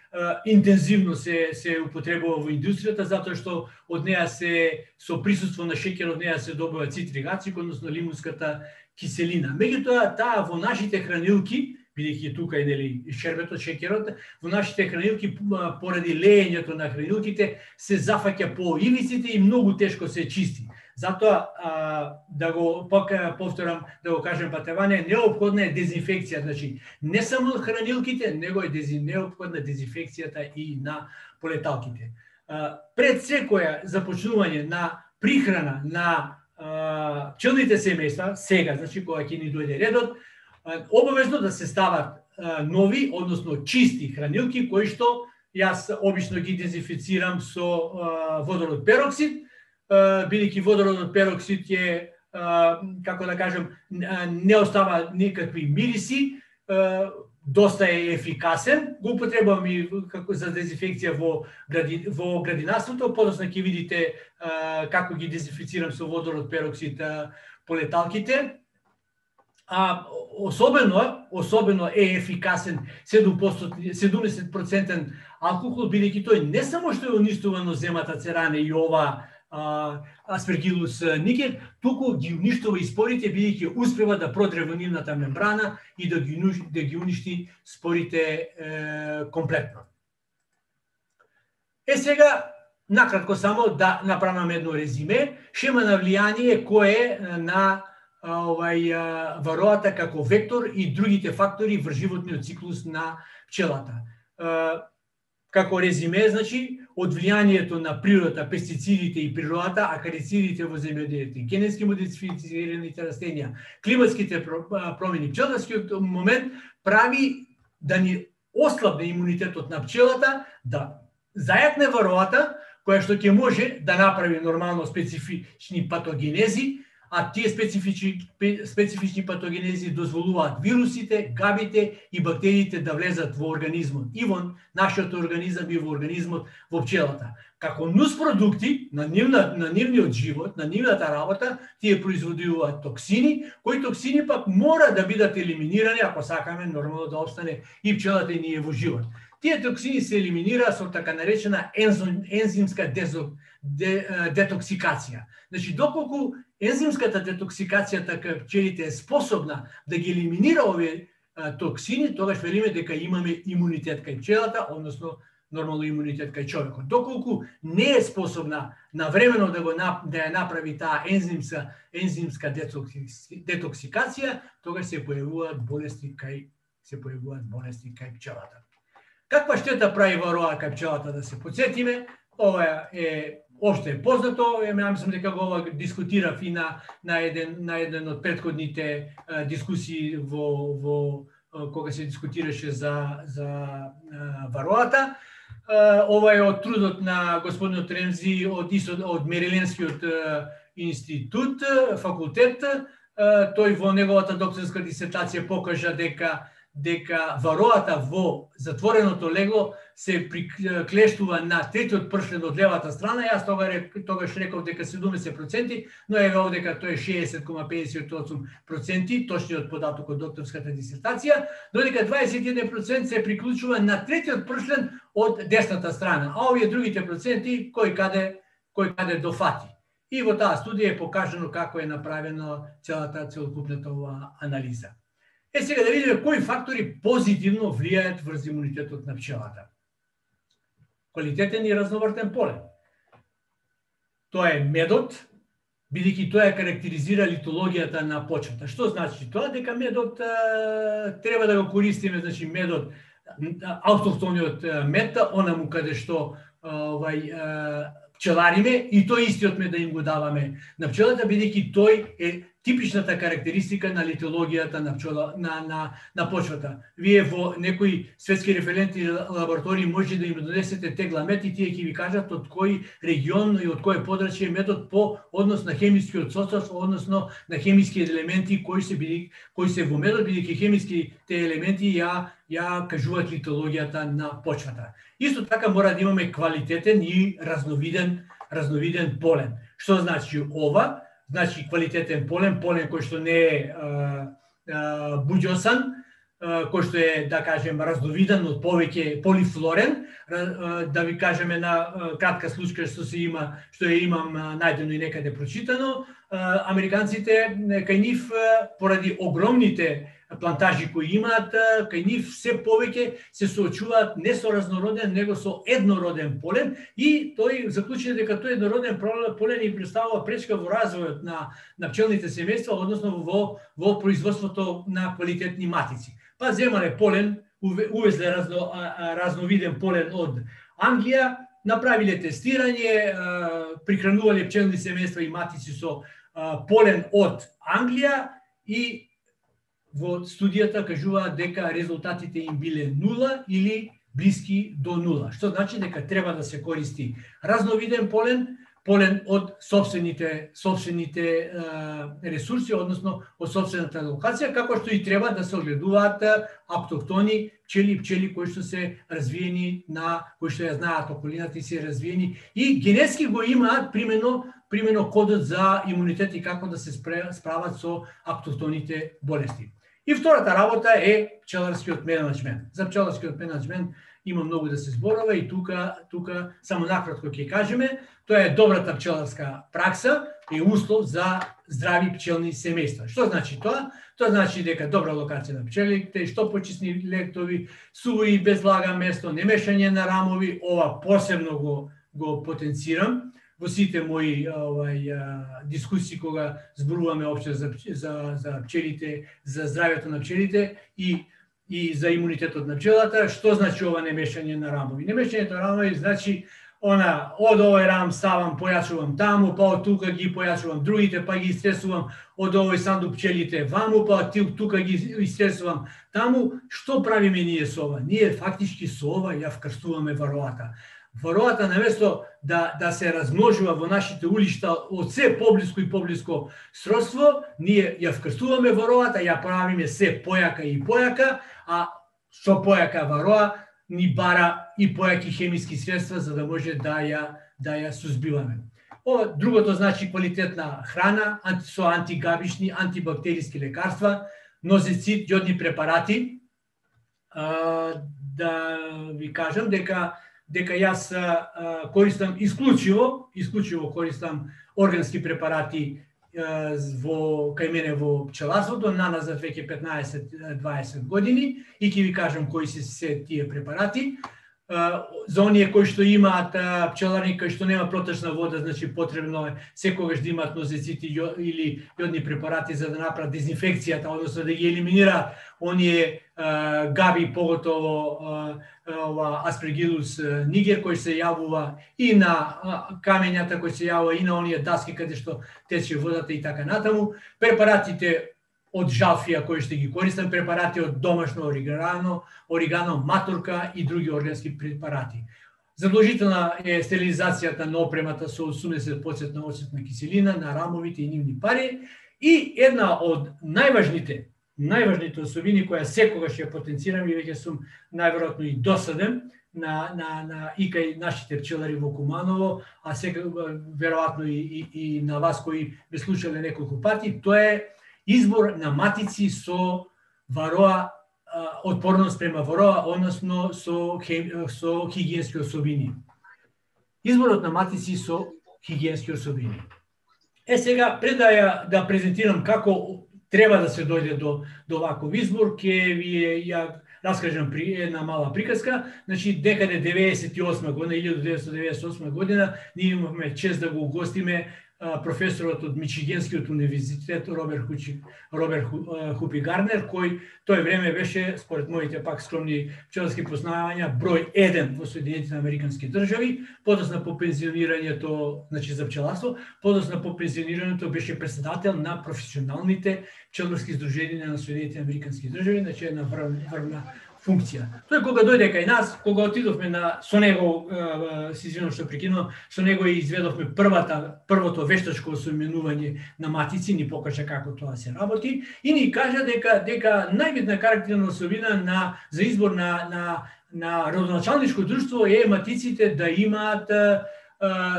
интензивно се се употребува во индустријата, затоа што од неа се со присуство на шеќер од неа се добива цитрик ацид, односно лимунската киселина. Меѓутоа таа во нашите хранилки, бидејќи тука е нели шербетот, шеќерот, во нашите хранилки поради леењето на хранилките се зафаќа по ивиците и многу тешко се чисти. Затоа а, да го пока повторам, да го кажем Патеване, неопходна е дезинфекција, значи не само хранилките, него е дези, неопходна дезинфекцијата и на полеталките. А, пред секоја започнување на прихрана на а, пчелните семејства, сега, значи кога ќе ни дојде редот, а, обавезно да се стават а, нови, односно чисти хранилки, кои што јас обично ги дезинфицирам со а, водород пероксид, бидејќи водородот пероксид е, како да кажем, не остава никакви мириси, доста е ефикасен, го употребувам и како за дезинфекција во гради, во градинарството, подоцна ќе видите како ги дезинфицирам со водород пероксид полеталките. А особено, особено е ефикасен седумдесет проценти алкохол, бидејќи тој не само што е уништувано земата церане и ова Aspergillus niger, туку ги уништува и спорите, бидејќи успева да продре во нивната мембрана и да ги, да ги уништи спорите е, комплетно. Е сега, накратко само да направам едно резиме, шема на влијание кое е на овај вароата како вектор и другите фактори врз животниот циклус на пчелата. како резиме, значи, од влијанието на природата, пестицидите и природата, акарицидите во земјоделието, генетски модифицираните растенија, климатските промени, пчеларскиот момент прави да ни ослабне имунитетот на пчелата, да зајакне вароата, која што ќе може да направи нормално специфични патогенези, а тие специфични, специфични патогенези дозволуваат вирусите, габите и бактериите да влезат во организмот, и во нашиот организам и во организмот во пчелата. Како нуспродукти на, нивна, на нивниот живот, на нивната работа, тие производуваат токсини, кои токсини пак мора да бидат елиминирани ако сакаме нормално да обстане и пчелата и ние во живот. Тие токсини се елиминираат со така наречена ензим, ензимска дезо, де, детоксикација. Значи, доколку ензимската детоксикација така пчелите е способна да ги елиминира овие а, токсини, тогаш велиме дека имаме имунитет кај пчелата, односно нормално имунитет кај човекот. Доколку не е способна навремено да го да ја направи таа ензимска ензимска детоксикација, тогаш се појавуваат болести кај се појавуваат болести кај пчелата. Каква штета прави вароа кај пчелата, да се потсетиме? Ова е општо е познато, ја мислам дека го ова дискутирав и на на еден на еден од претходните а, дискусии во во а, кога се дискутираше за за а, вароата. А, ова е од трудот на господинот Ремзи од исто од Мерилендскиот институт, факултет. А, тој во неговата докторска дисертација покажа дека дека вароата во затвореното легло се приклештува на третиот пршлен од левата страна. Јас тога тогаш реков дека седумдесет проценти, но е овде дека тој е шеесет zarez педесет и осум проценти, точниот податок од докторската дисертација, додека дваесет и еден проценти се приклучува на третиот пршлен од десната страна, а овие другите проценти кој каде кој каде дофати. И во таа студија е покажано како е направено целата целокупната ова анализа. Е, сега да видиме кои фактори позитивно влијаат врз имунитетот на пчелата. Квалитетен и разновртен полен. Тоа е медот, бидејќи тоа ја карактеризира литологијата на почвата. Што значи тоа? Дека медот а, треба да го користиме, значи медот, автохтониот мед, онаму каде што а, овај а, пчелариме, и тој истиот мед да им го даваме на пчелата, бидејќи тој е типичната карактеристика на литологијата на пчела на на на почвата. Вие во некои светски референтни лаборатории може да им донесете тегла мед и тие ќе ви кажат од кој регион и од кое подрачје метод по однос на хемискиот состав, односно на хемиските елементи кои се биде кои се во медот, бидејќи хемиските елементи ја ја кажуваат литологијата на почвата. Исто така мора да имаме квалитетен и разновиден разновиден полен. Што значи ова? Значи квалитетен полен, полен кој што не е а, а, буџосан, а, кој што е, да кажем, разновиден од повеќе полифлорен, а, да ви кажеме на а, кратка случка што се има, што ја имам а, најдено и некаде прочитано, а, американците кај нив поради огромните плантажи кои имаат, кај нив се повеќе се соочуваат не со разнороден, него со еднороден полен, и тој заклучи дека тој еднороден полен им представува пречка во развојот на на пчелните семејства, односно во во производството на квалитетни матици. Па земале полен, увезле разно, разновиден полен од Англија, направиле тестирање, прихранувале пчелни семејства и матици со полен од Англија, и во студијата кажуваат дека резултатите им биле нула или блиски до нула. Што значи дека треба да се користи разновиден полен, полен од собствените собствените е, ресурси, односно од собствената локација, како што и треба да се огледуваат автохтони пчели, пчели кои што се развиени на кои што ја знаат околината и се развиени и генетски го имаат примено примено кодот за имунитет и како да се справат со автохтоните болести. И втората работа е пчеларскиот менеджмент. За пчеларскиот менеджмент има многу да се зборува и тука тука само накратко ќе кажеме, тоа е добрата пчеларска пракса и услов за здрави пчелни семејства. Што значи тоа? Тоа значи дека добра локација на пчелите, што почисни лектови, суво и без влага место, немешање на рамови, ова посебно го го потенцирам во сите мои овај дискусии кога зборуваме општо за за за пчелите, за здравјето на пчелите, и и за имунитетот на пчелата. Што значи ова немешање на рамови? Немешањето на рамови значи она, од овој рам ставам, појачувам таму, па од тука ги појачувам другите, па ги истресувам од овој сандук пчелите ваму, па од тука ги истресувам таму. Што правиме ние со ова? Ние фактички со ова ја вкрстуваме вароата. Вароата наместо да да се размножува во нашите улишта од се поблиско и поблиско сродство, ние ја вкрстуваме вароата, ја правиме се појака и појака, а со појака вароа ни бара и појаки хемиски средства за да може да ја да ја сузбиваме. Ова другото значи квалитетна храна, анти, со антигабишни, антибактериски лекарства, нозецид, јодни препарати. А, да ви кажам дека дека јас а, користам исклучиво, исклучиво користам органски препарати а, во кај мене во пчеларството, наназад веќе петнаесет до дваесет години, и ќе ви кажам кои се се тие препарати. А, за оние кои што имаат а, пчеларни кои што нема протечна вода, значи потребно е секогаш да имаат нозецити или јодни препарати за да направат дезинфекцијата, односно да ги елиминираат оние а, габи, поготово а, ова Aspergillus niger кој се јавува и на а, камењата кој се јавува и на оние даски каде што тече водата и така натаму. Препаратите од жалфија кои што ги користам, препарати од домашно оригано, оригано, матурка и други органски препарати. Задолжителна е стерилизацијата на опремата со осумдесет проценти оцетна киселина на рамовите и нивни пари. И една од најважните, најважните особини која секогаш ја потенцирам и веќе сум најверојатно и досаден на на на и кај нашите пчелари во Куманово, а сега веројатно и, и и на вас кои ме слушале неколку пати, тоа е избор на матици со вароа, отпорност према вароа, односно со, со хигиенски особини. Изборот на матици со хигиенски особини. Е сега, пред да ја да презентирам како треба да се дојде до, до ваков избор, ќе ви ја раскажам при една мала приказка. Значи, декаде деветесет и осма година, илјада деветстотини деветдесет и осма година, ние имавме чест да го угостиме професорот од Мичигенскиот универзитет Роберт Хучи, Роберт Хупи Гарнер, кој тој време беше, според моите пак скромни пчеларски познавања, број еден во Соединетите Американски држави. Подоцна по пензионирањето, значи за пчеларство, подоцна по пензионирањето беше председател на професионалните пчеларски здруженија на Соединетите Американски држави, значи една врвна функција. Тој кога дојде кај нас, кога отидовме на со него, се извинувам што прекинувам, со него и изведовме првата првото вештачко осоименување на матици, ни покажа како тоа се работи и ни кажа дека дека најбитна карактерна особина на за избор на на на родоначалничко друштво е матиците да имаат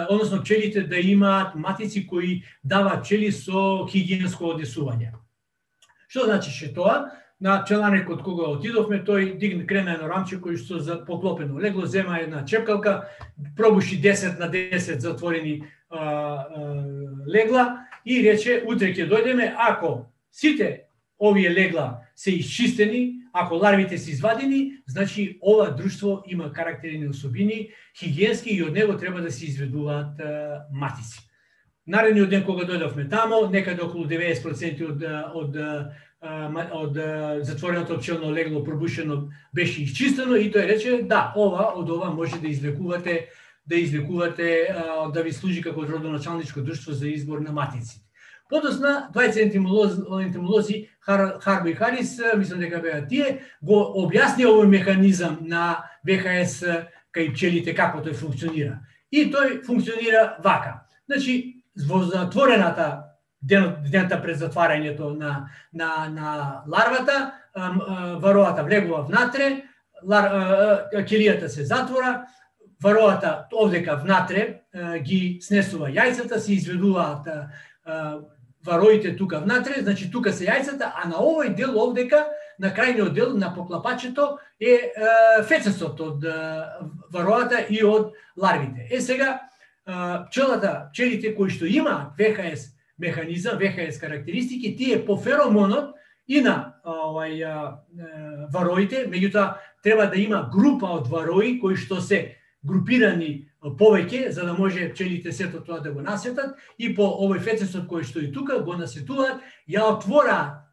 односно пчелите да имаат матици кои даваат пчели со хигиенско одесување. Што значише тоа? На пчеларникот кога отидовме, тој дигна крена едно рамче кој што за поклопено легло, зема една чепкалка, пробуши десет на десет затворени а, а, легла и рече, утре ќе дојдеме, ако сите овие легла се исчистени, ако ларвите се извадени, значи ова друштво има карактерни особини, хигиенски и од него треба да се изведуваат а, матици. Наредниот ден кога дојдовме тамо, некаде околу деветдесет проценти од од од затвореното пчелно легло пробушено беше исчистено и тој рече да, ова од ова може да извлекувате да извлекувате да ви служи како родоначалничко друштво за избор на матици. Подосна двајца ентомолози, ентомолози Хар, Харби и Харис, мислам дека беа тие, го објасни овој механизам на В Х С кај пчелите како тој функционира. И тој функционира вака. Значи, во затворената Ден, дента пред затварањето на, на, на ларвата, вароата влегува внатре, лар, келијата се затвора, вароата овдека внатре ги снесува јајцата, се изведуваат вароите тука внатре, значи тука се јајцата, а на овој дел овдека, на крајниот дел на поклапачето е фецесот од вароата и од ларвите. Е сега, пчелата, пчелите кои што имаат В Х С механизам, В Х С карактеристики, тие по феромонот и на овај вароите, меѓутоа треба да има група од варои кои што се групирани повеќе за да може пчелите сето тоа да го насетат и по овој фецесот кој што и тука го насетуваат, ја отвораат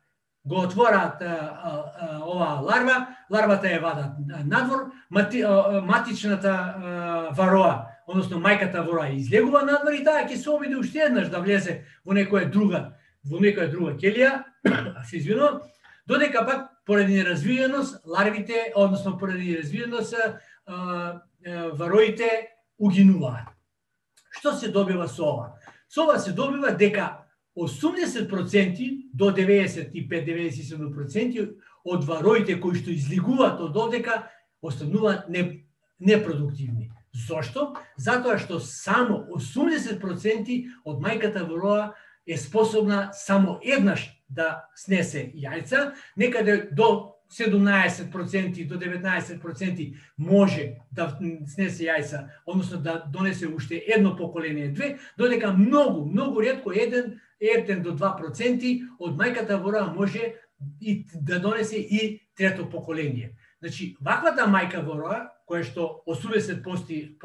го отворат оваа ларва, ларвата ја вадат надвор, мати, матичната вароа, односно мајката вароа излегува надвор и таа ќе се обиде уште еднаш да влезе во некоја друга, во некоја друга келија, се извинувам, додека пак поради неразвиеност ларвите, односно поради неразвиеност вароите угинуваат. Што се добива со ова? Со ова се добива дека осумдесет проценти до деветдесет и пет до деветдесет и седум проценти од вароите кои што излегуваат од овдека остануваат не, непродуктивни. Зошто? Затоа што само осумдесет проценти од мајката вароа е способна само еднаш да снесе јајца, некаде до седумнаесет проценти до деветнаесет проценти може да снесе јајца, односно да донесе уште едно поколение, две, додека многу, многу ретко еден, еден до два проценти од мајката вароа може и да донесе и трето поколение. Значи, ваквата мајка вароа, која што осумдесет проценти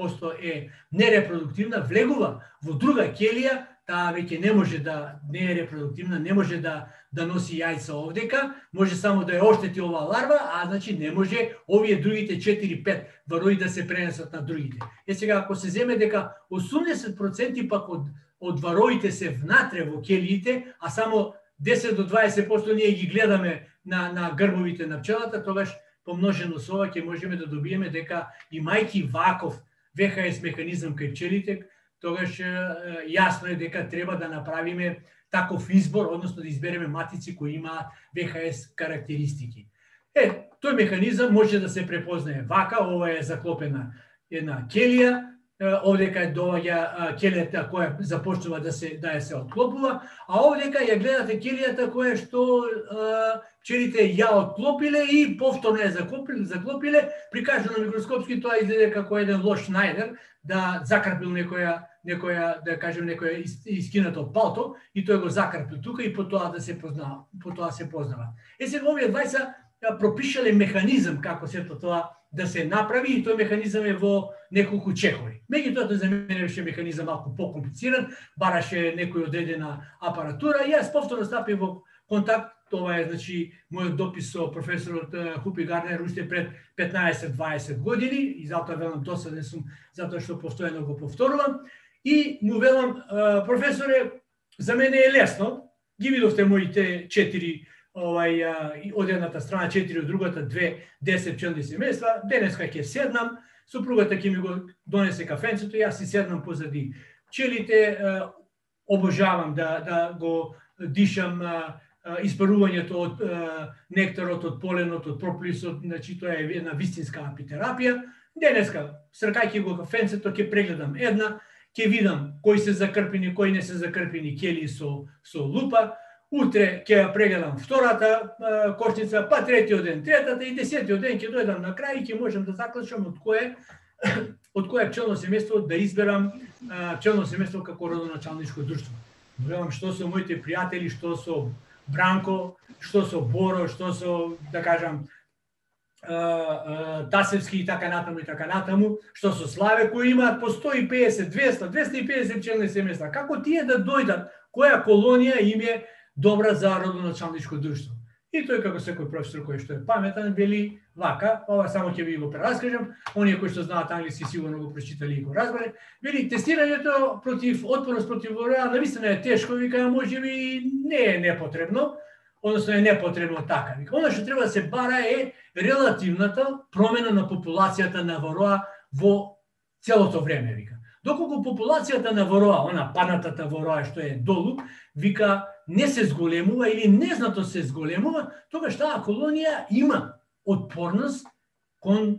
е нерепродуктивна, влегува во друга келија, таа веќе не може да не е репродуктивна, не може да да носи јајца овдека, може само да ја оштети оваа ларва, а значи не може овие другите четири пет варои да се пренесат на другите. Е сега ако се земе дека осумдесет проценти пак од од вароите се внатре во келиите, а само десет до дваесет проценти ние ги гледаме на на грбовите на пчелата, тогаш помножено со ова ќе можеме да добиеме дека и мајки ваков В Х С механизам кај пчелите, тогаш јасно е дека треба да направиме таков избор, односно да избереме матици кои имаат В Х С карактеристики. Е, тој механизам може да се препознае вака, ова е заклопена една келија, овдека доаѓа келијата која започнува да се да ја се отклопува, а овдека ја гледате келијата која што пчелите ја отклопиле и повторно ја заклопиле, заклопиле, прикажано микроскопски тоа изгледа како еден лош Шнајдер да закрпил некоја некоја, да кажем, некоја искинато палто и тој го закрпил тука и потоа да се познава, потоа се познава. Е сега овие двајца пропишале механизам како сето тоа да се направи и тој механизам е во неколку чекови. Меѓутоа тој за мене беше механизам малку покомплициран, бараше некој одредена апаратура и јас повторно стапив во контакт. Това е, значи, мојот допис со професорот Хупи Гарнер уште пред петнаесет дваесет години и затоа велам досаден сум, затоа што постојано го повторувам. И му велам, професоре, за мене е лесно, ги видовте моите четири, овај, од едната страна четири, од другата две, десет пчелни семејства, денеска ќе седнам, супругата ќе ми го донесе кафенцето, јас си седнам позади пчелите, обожавам да, да го дишам испарувањето од нектарот, од поленот, од прополисот, значи тоа е една вистинска апитерапија. Денеска, сркајќи го кафенцето, ќе прегледам една, ќе видам кои се закрпени, кои не се закрпени келии со со лупа. Утре ќе ја прегледам втората кошница, па третиот ден третата и десетиот ден ќе дојдам на крај и ќе можам да заклучам од кое од кое пчелно семејство да изберам пчелно семејство како родоначалничко друштво. Велам што со моите пријатели, што со Бранко, што со Боро, што со, да кажам, Тасевски и така натаму и така натаму, што со Славе кои имаат по сто и педесет, двесте, двесте и педесет пчелни семејства. Како тие да дојдат, која колонија им е добра за родоначалничко друштво? И тој како секој професор кој што е паметен вели вака, ова само ќе ви го прераскажам, оние кои што знаат англиски сигурно го прочитали и го разбере. Вели тестирањето против отпорност против вароа навистина е тешко, вика, можеби не е непотребно, односно е непотребно така. Вика, она што треба да се бара е релативната промена на популацијата на вароа во целото време, вика. Доколку популацијата на вароа, она панатата вароа што е долу, вика, не се зголемува или незнато се зголемува, тогаш таа колонија има отпорност кон е,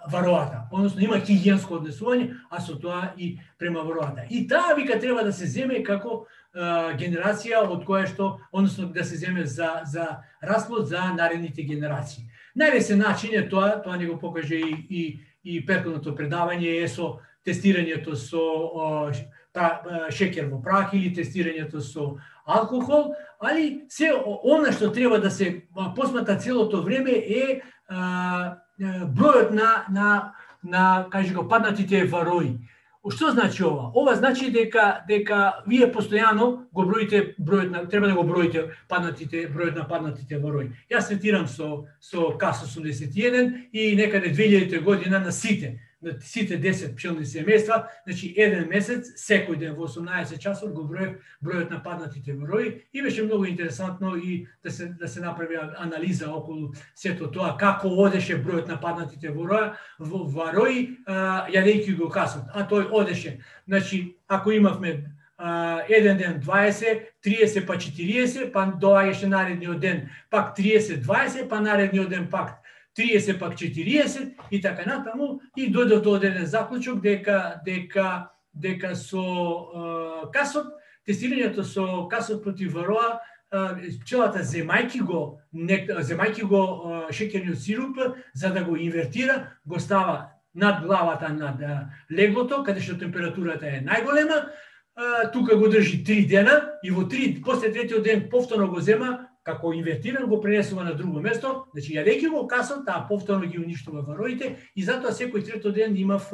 вароата, односно има хигиенско однесување, а со тоа и према вароата. И таа вика треба да се земе како е, генерација од која што, односно да се земе за за расплод за наредните генерации. Најлесен начин е тоа, тоа ни го покаже и и и претходното предавање е со тестирањето со о, па, шеќер во прах или тестирањето со алкохол, али се она што треба да се посмatra целото време е а, бројот на на на кажи го паднатите варои. Што значи ова? Ова значи дека дека вие постојано го броите бројот на треба да го броите паднатите бројот на паднатите во рој. Јас третирам со со КАС осумдесет и еден и некаде две илјадета година на сите на сите десет пчелни семејства, значи еден месец, секој ден во осумнаесет часот го броев бројот на паднатите во рој и беше многу интересантно и да се да се направи анализа околу сето тоа како одеше бројот на паднатите во рој, во, во рој, јадејќи го касот. А тој одеше, значи ако имавме а, еден ден дваесет, триесет па четириесет, па доаѓаше наредниот ден пак триесет, дваесет, па наредниот ден пак триесет пак четириесет и така натаму и дојде до еден заклучок дека дека дека со uh, касот, тестирањето со касот против вароа, uh, пчелата земајки го нек, земајки го uh, шеќерниот сируп за да го инвертира, го става над главата над uh, леглото каде што температурата е најголема, uh, тука го држи три дена и во три после третиот ден повторно го зема како инвертиран го пренесува на друго место, значи јадејќи го касот, таа повторно ги уништува вароите и затоа секој трето ден имав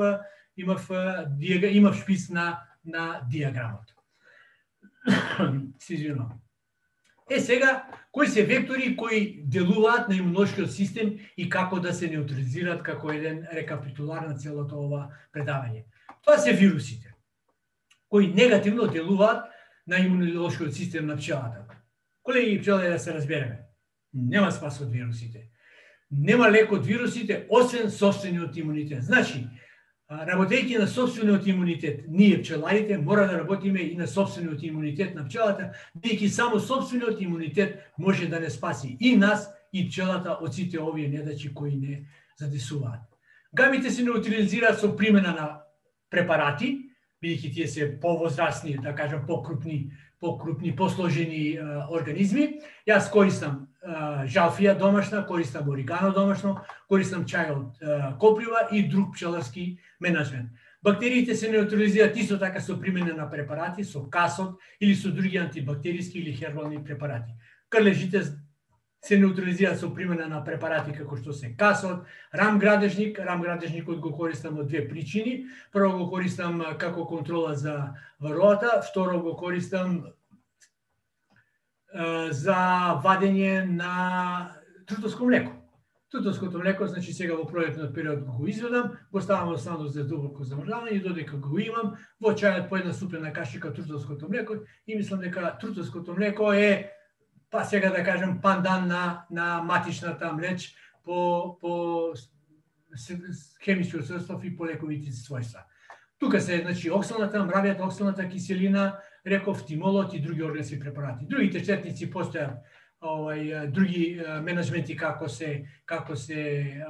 имав имав шпиц на на диаграмот. Се извинувам. Е сега, кои се вектори кои делуваат на имунолошкиот систем и како да се неутрализираат како еден рекапитулар на целото ова предавање. Тоа се вирусите кои негативно делуваат на имунолошкиот систем на пчелата. Колеги пчелари, да се разбереме, нема спас од вирусите. Нема лек од вирусите, освен собствениот имунитет. Значи, работејќи на собствениот имунитет, ние пчеларите мора да работиме и на собствениот имунитет на пчелата, бидејќи само собствениот имунитет може да не спаси и нас, и пчелата од сите овие недачи кои не задесуваат. Гамите се неутрализираат со примена на препарати, бидејќи тие се повозрасни, да кажам, покрупни покрупни, посложени е, организми. Јас користам е, жалфија домашна, користам оригано домашно, користам чај од е, коприва и друг пчеларски менеджмент. Бактериите се неутрализираат исто така со примена на препарати, со касот или со други антибактериски или хербални препарати. Крлежите се неутрализираат со примена на препарати како што се касот, рамградежник, рамградежникот го користам од две причини. Прво го користам како контрола за вароата, второ го користам е, за вадење на трутовско млеко. Трутовското млеко, значи сега во пролетниот период го изведам, го ставам во станот за дубоко замрзавање и додека го имам, во чајот по една ступена кашика трутовското млеко и мислам дека трутовското млеко е, па сега да кажем, пандан на, на матичната млеч по, по хемискиот состав и по лековите својства. Тука се, значи, оксалната, мравијата оксалната киселина, реков, тимолот и други органски препарати. Другите четници постојат овај други менеджменти како се како се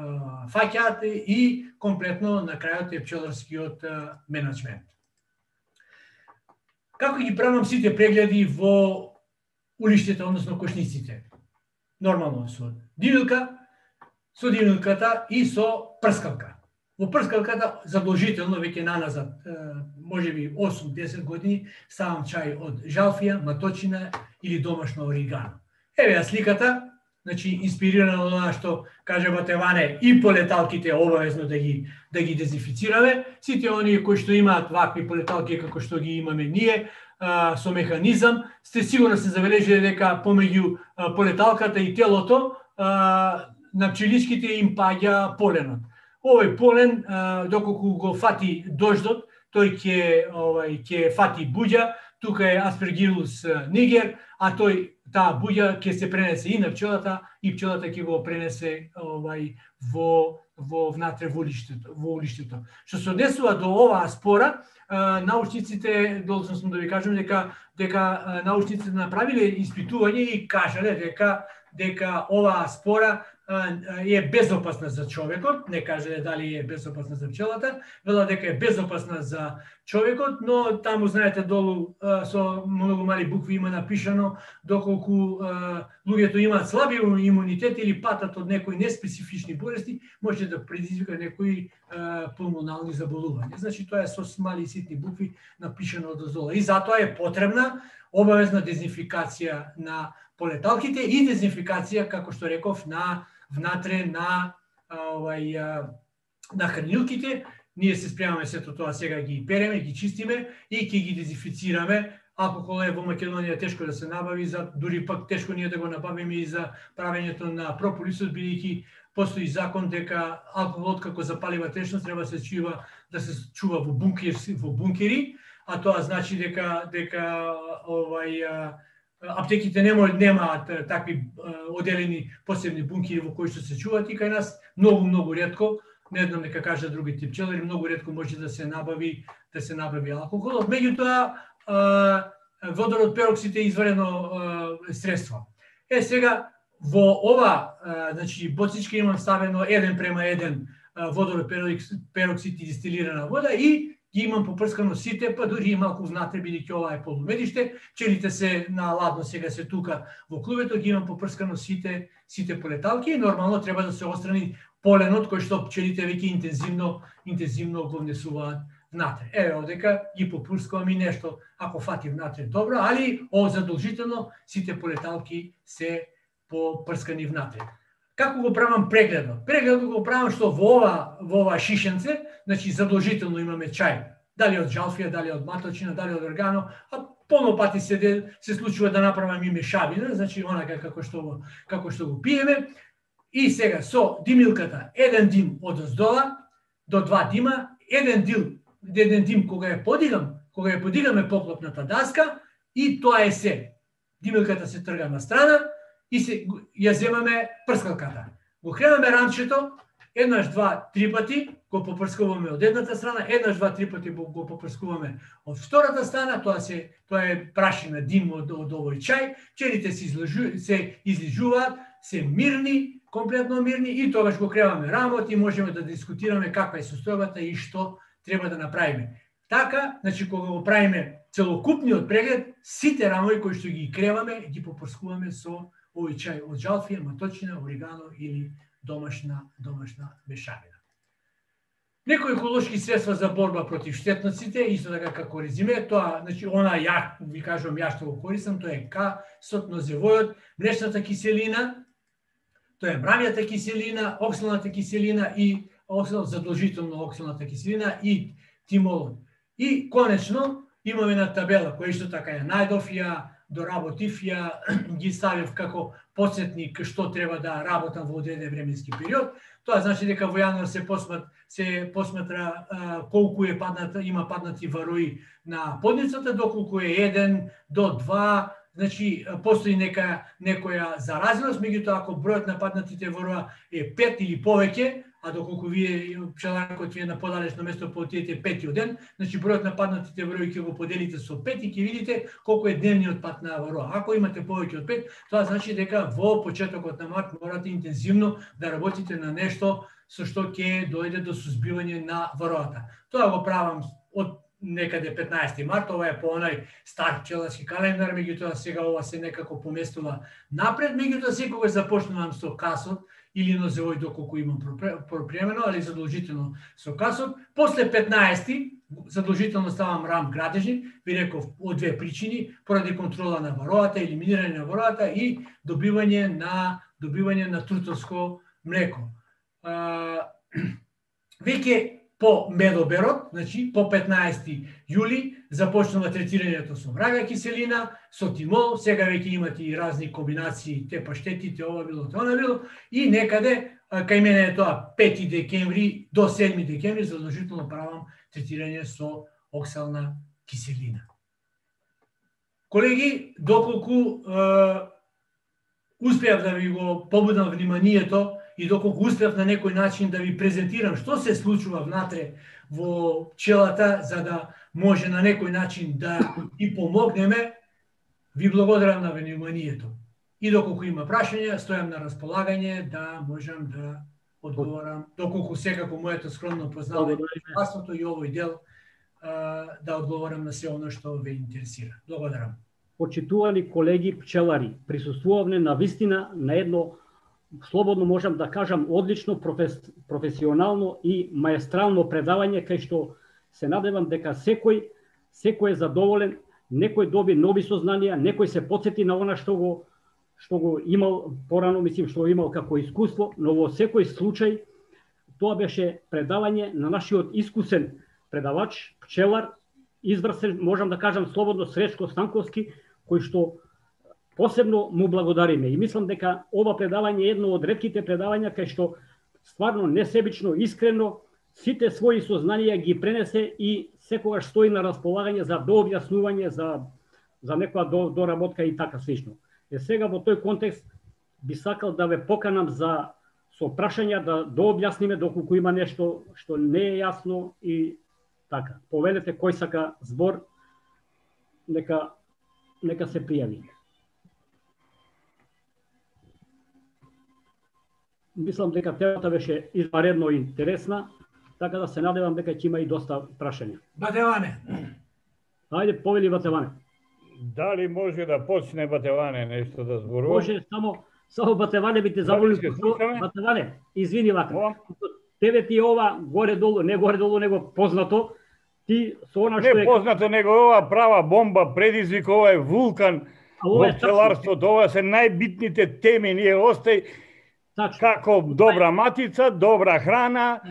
фаќаат и комплетно на крајот е пчеларскиот менеджмент. Како ги правам сите прегледи во улиштата, односно кошниците? Нормално со дивилка, со дивилката и со прскалка. Во прскалката задолжително веќе наназад, можеби осум-десет години, ставам чај од жалфија, маточина или домашно оригано. Еве ја сликата, значи инспирирана од она што каже Батеване, и полеталките обавезно да ги да ги дезинфицираме. Сите оние кои што имаат вакви полеталки како што ги имаме ние, а, со механизам, сте сигурно се забележале дека помеѓу а, полеталката и телото а, на пчеличките им паѓа поленот. Овој полен, а, доколку го фати дождот, тој ќе овај ќе фати буѓа, тука е Aspergillus niger, а тој таа буѓа ќе се пренесе и на пчелата и пчелата ќе го пренесе овај во во внатре во улиштето, во улиштето. Што се однесува до оваа спора, научниците, должен сум да ви кажам дека дека научниците направиле испитување и кажале дека дека оваа спора е безопасна за човекот, не кажале дали е безопасна за пчелата, вела дека е безопасна за човекот, но таму знаете долу со многу мали букви има напишано доколку луѓето имаат слаби имунитет или патат од некои неспецифични болести, може да предизвика некои пулмонални заболувања. Значи тоа е со мали ситни букви напишано одозола и затоа е потребна обавезна дезинфикација на полеталките и дезинфикација, како што реков, на внатре на овај на хранилките, ние се спремаме сето тоа сега ги переме, ги чистиме и ќе ги дезинфицираме. Алкохол е во Македонија тешко да се набави, за дури пак тешко ние да го набавиме и за правењето на прополисот, бидејќи постои закон дека алкохолот како запалива течност треба да се чува да се чува во бункер, во бункери, а тоа значи дека дека овај аптеките нема немаат такви оделени посебни бункери во кои што се чуваат, и кај нас многу многу ретко, не знам нека кажат другите пчелари, многу ретко може да се набави да се набави алкохол. Меѓутоа водород пероксид е изварено средство. Е сега во ова, значи боцичка имам ставено еден према еден водород пероксид и дистилирана вода и ги имам попрскано сите, па дури и малку внатре, бидејќи ова е полумедиште. Пчелите се на ладно сега се тука во клубето, ги имам попрскано сите сите полеталки и нормално треба да се отстрани поленот кој што пчелите веќе интензивно интензивно го внесуваат внатре. Еве одека ги попрскувам и нешто ако фати внатре добро, али о задолжително сите полеталки се попрскани внатре. Како го правам прегледот? Прегледот го правам што во ова во ова шишенце, значи задолжително имаме чај, дали од жалфија, дали од маточина, дали од органо, а полно пати се се случува да направам и мешавина, значи онака како што го како што го пиеме. И сега со димилката еден дим од оздола до два дима, еден дим, еден дим кога ја подигам, кога ја подигаме поклопната даска и тоа е се. Димилката се трга на страна и се ја земаме прскалката. Го кренаме рамчето, еднаш, два, три пати го попрскуваме од едната страна, еднаш, два, три пати го попрскуваме од втората страна, тоа се тоа е прашина дим од, од овој чај, пчелите се излежу, се излежуваат, се мирни, комплетно мирни и тогаш го креваме рамот и можеме да дискутираме каква е состојбата и што треба да направиме. Така, значи кога го правиме целокупниот преглед, сите рамови кои што ги креваме, ги попрскуваме со овој чај од жалфија, маточина, орегано или домашна домашна мешавина. Некои еколошки средства за борба против штетноците, исто така како резиме, тоа, значи она ја ви кажувам ја што го користам, тоа е касот, нозевојот, млечната киселина, тоа е мрамјата киселина, оксалната киселина и оксал, задолжително оксалната киселина и тимолот. И конечно имаме на табела која исто така ја најдов, ја доработив, ја ги ставив како подсетник што треба да работам во одреден временски период. Тоа значи дека во јануар се посмат се посматра а, колку е падната, има паднати варои на подницата, доколку е еден до два, значи постои нека некоја заразеност, меѓутоа ако бројот на паднатите вароа е пет или повеќе, а доколку вие пчеларкот ви е на подалечно место по отидете пети ден, значи бројот на паднатите варои ќе го поделите со пет и ќе видите колку е дневниот пат на вароа. Ако имате повеќе од пет, тоа значи дека во почетокот на март морате интензивно да работите на нешто со што ќе дојде до сузбивање на вароата. Тоа го правам од некаде петнаесети март, ова е по онај стар пчеларски календар, меѓутоа сега ова се некако поместува напред, меѓутоа секогаш започнувам со касот или нозевој доколку имам пропремено, али задолжително со касот. После петнаесети задолжително ставам рам градежник, ви реков од две причини, поради контрола на вароата, елиминирање на вароата и добивање на добивање на трутовско млеко. Веќе по медоберот, значи по петнаесети јули започнува третирањето со врага киселина, со тимол, сега веќе имате и разни комбинации, те паштети, те ова било, те она било, и некаде кај мене е тоа пети декември до седми декември задолжително правам третирање со оксална киселина. Колеги, доколку е, успеав да ви го побудам вниманието и доколку успеав на некој начин да ви презентирам што се случува внатре во пчелата, за да може на некој начин да и помогнеме, ви благодарам на вниманието. И доколку има прашања, стојам на располагање да можам да одговорам, доколку секако моето скромно познавање на и овој дел да одговорам на се оно што ве интересира. Благодарам. Почитувани колеги пчелари, присуствувавме на вистина на едно, слободно можам да кажам, одлично профес, професионално и маестрално предавање, кај што се надевам дека секој секој е задоволен, некој доби нови сознанија, некој се потсети на она што го што го имал порано, мислим што го имал како искуство, но во секој случај Тоа беше предавање на нашиот искусен предавач, пчелар, изврсен, можам да кажам слободно, Сречко Станковски, кој што посебно му благодариме. И мислам дека ова предавање е едно од ретките предавања кај што стварно несебично, искрено, сите своји сознанија ги пренесе и секогаш стои на располагање за дообјаснување, за, за некоја до, доработка и така слично. Е сега во тој контекст би сакал да ве поканам за со прашања да дообјасниме доколку има нешто што не е јасно и така. Повелете кој сака збор, нека нека се пријави. Мислам дека темата беше изваредно интересна, така да се надевам дека ќе има и доста прашања. Батеване. Ајде, повели Батеване. Дали може да почне Батеване нешто да зборува? Може, само само Батеване би те заболи. Батеване, извини вака. Тебе ти ова горе-долу, не горе-долу, него познато, ти со она што е... Не познато, него ова права бомба, предизвик, ова е вулкан во пчеларството, ова се најбитните теми, ние остај Тачно. Како добра матица, добра храна,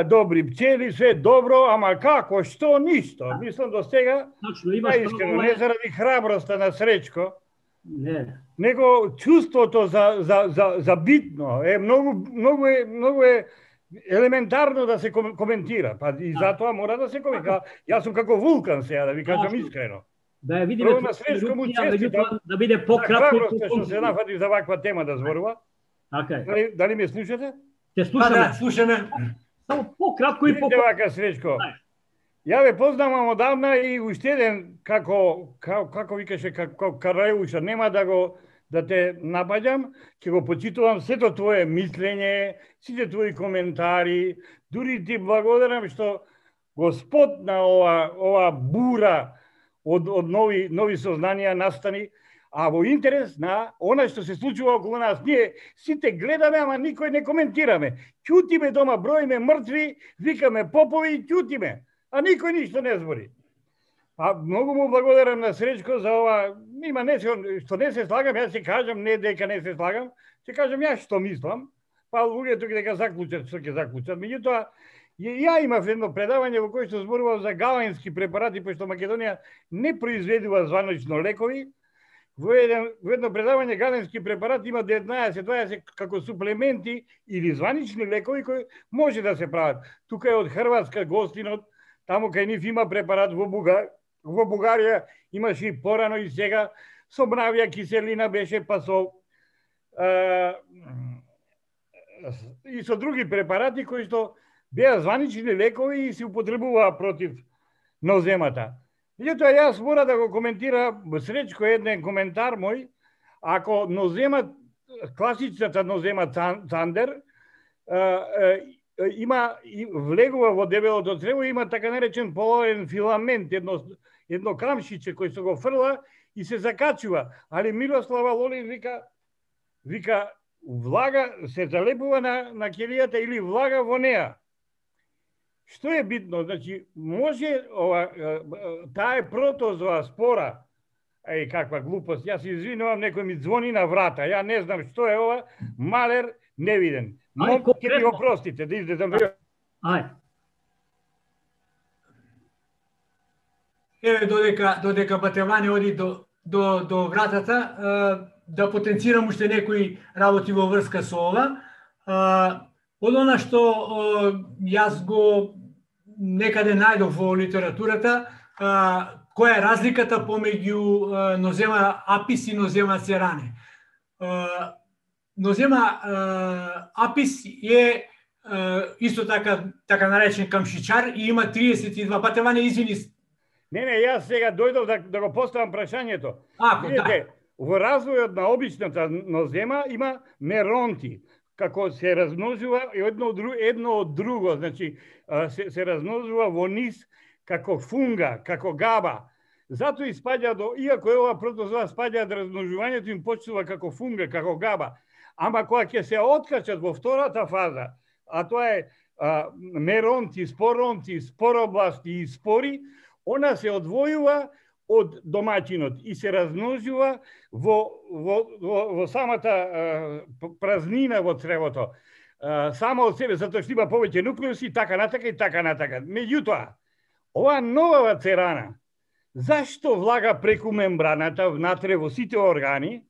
добри пчели, све добро, ама како, што, ништо. Мислам до сега, наискрено, не заради храброста на Сречко, не. Него чувството за, за, за, за битно е многу, многу е, многу е елементарно да се коментира, па и затоа мора да се коментира. Јас сум како вулкан сега, да ви кажам искрено. Да ја видиме на Сречко му честитам, да биде пократко. Храброста што се нафати за ваква тема да зборува. Така е. Дали, дали ме слушате? Те слушаме. Да, да, слушаме. Само пократко и пократко. Видите вака, Сречко. Ја ве познавам одавна и уште еден, како, како, како викаше, како Карајуша, нема да го да те напаѓам, ќе го почитувам сето твое мислење, сите твои коментари, дури ти благодарам што го спотна ова, ова бура од, од нови, нови сознанија настани, а во интерес на она што се случува околу нас. Ние сите гледаме, ама никој не коментираме. Ќутиме дома, броиме мртви, викаме попови, ќутиме, а никој ништо не збори. А многу му благодарам на Сречко за ова, има нешто што не се слагам, јас ќе кажам, не дека не се слагам, ќе кажам јас што мислам, па луѓето дека заклучат што ќе заклучат. Меѓутоа, ја имав едно предавање во кој што зборував за галенски препарати, пошто Македонија не произведува званочно лекови. Во едно, во едно предавање галенски препарати има деветнаесет дваесет како суплементи или званични лекови кои може да се прават. Тука е од Хрватска гостинот, таму кај нив има препарат во Бугарија. Во Бугарија имаше и порано и сега со мравја киселина беше, па со е, и со други препарати кои што беа званични лекови и се употребуваа против ноземата. Меѓутоа јас мора да го коментира Сречко еден коментар мој, ако нозема, класичната нозема Цандер, има влегува во дебелото црево, има така наречен половен филамент, едно едно крамшиче кој се го фрла и се закачува. Али Мирослава Лолин вика вика влага се залепува на на ќелијата или влага во неа. Што е битно? Значи, може ова таа е протозоа спора. Еј, каква глупост. Јас извинувам, некој ми звони на врата. Ја не знам што е ова. Малер невиден. Но ќе ми го простите, да излезам. Ај. Еве, додека, додека Батеване оди до, до, до вратата, да потенцирам уште некои работи во врска со ова. Од она што јас го некаде најдов во литературата, која е разликата помеѓу нозема апис и нозема церане. Нозема апис е исто така така наречен камшичар и има триесет и два. Батеване, извини. Не, не, јас сега дојдов да, да го поставам прашањето. Ако, видите, да. Во развојот на обичната нозема има меронти, како се размножува едно од друго, едно од друго, значи се, се размножува во низ како фунга, како габа. Затоа испаѓа до, иако е ова протозоа спаѓа од размножувањето, им почнува како фунга, како габа. Ама кога ќе се откачат во втората фаза, а тоа е а, меронти, споронти, споробласти и спори, она се одвојува од домаќинот и се размножува во, во, во, во самата а, празнина во цревото. само од себе, затоа што има повеќе нуклеуси, така натака и така натака. Меѓутоа, ова нова церана, зашто влага преку мембраната внатре во сите органи,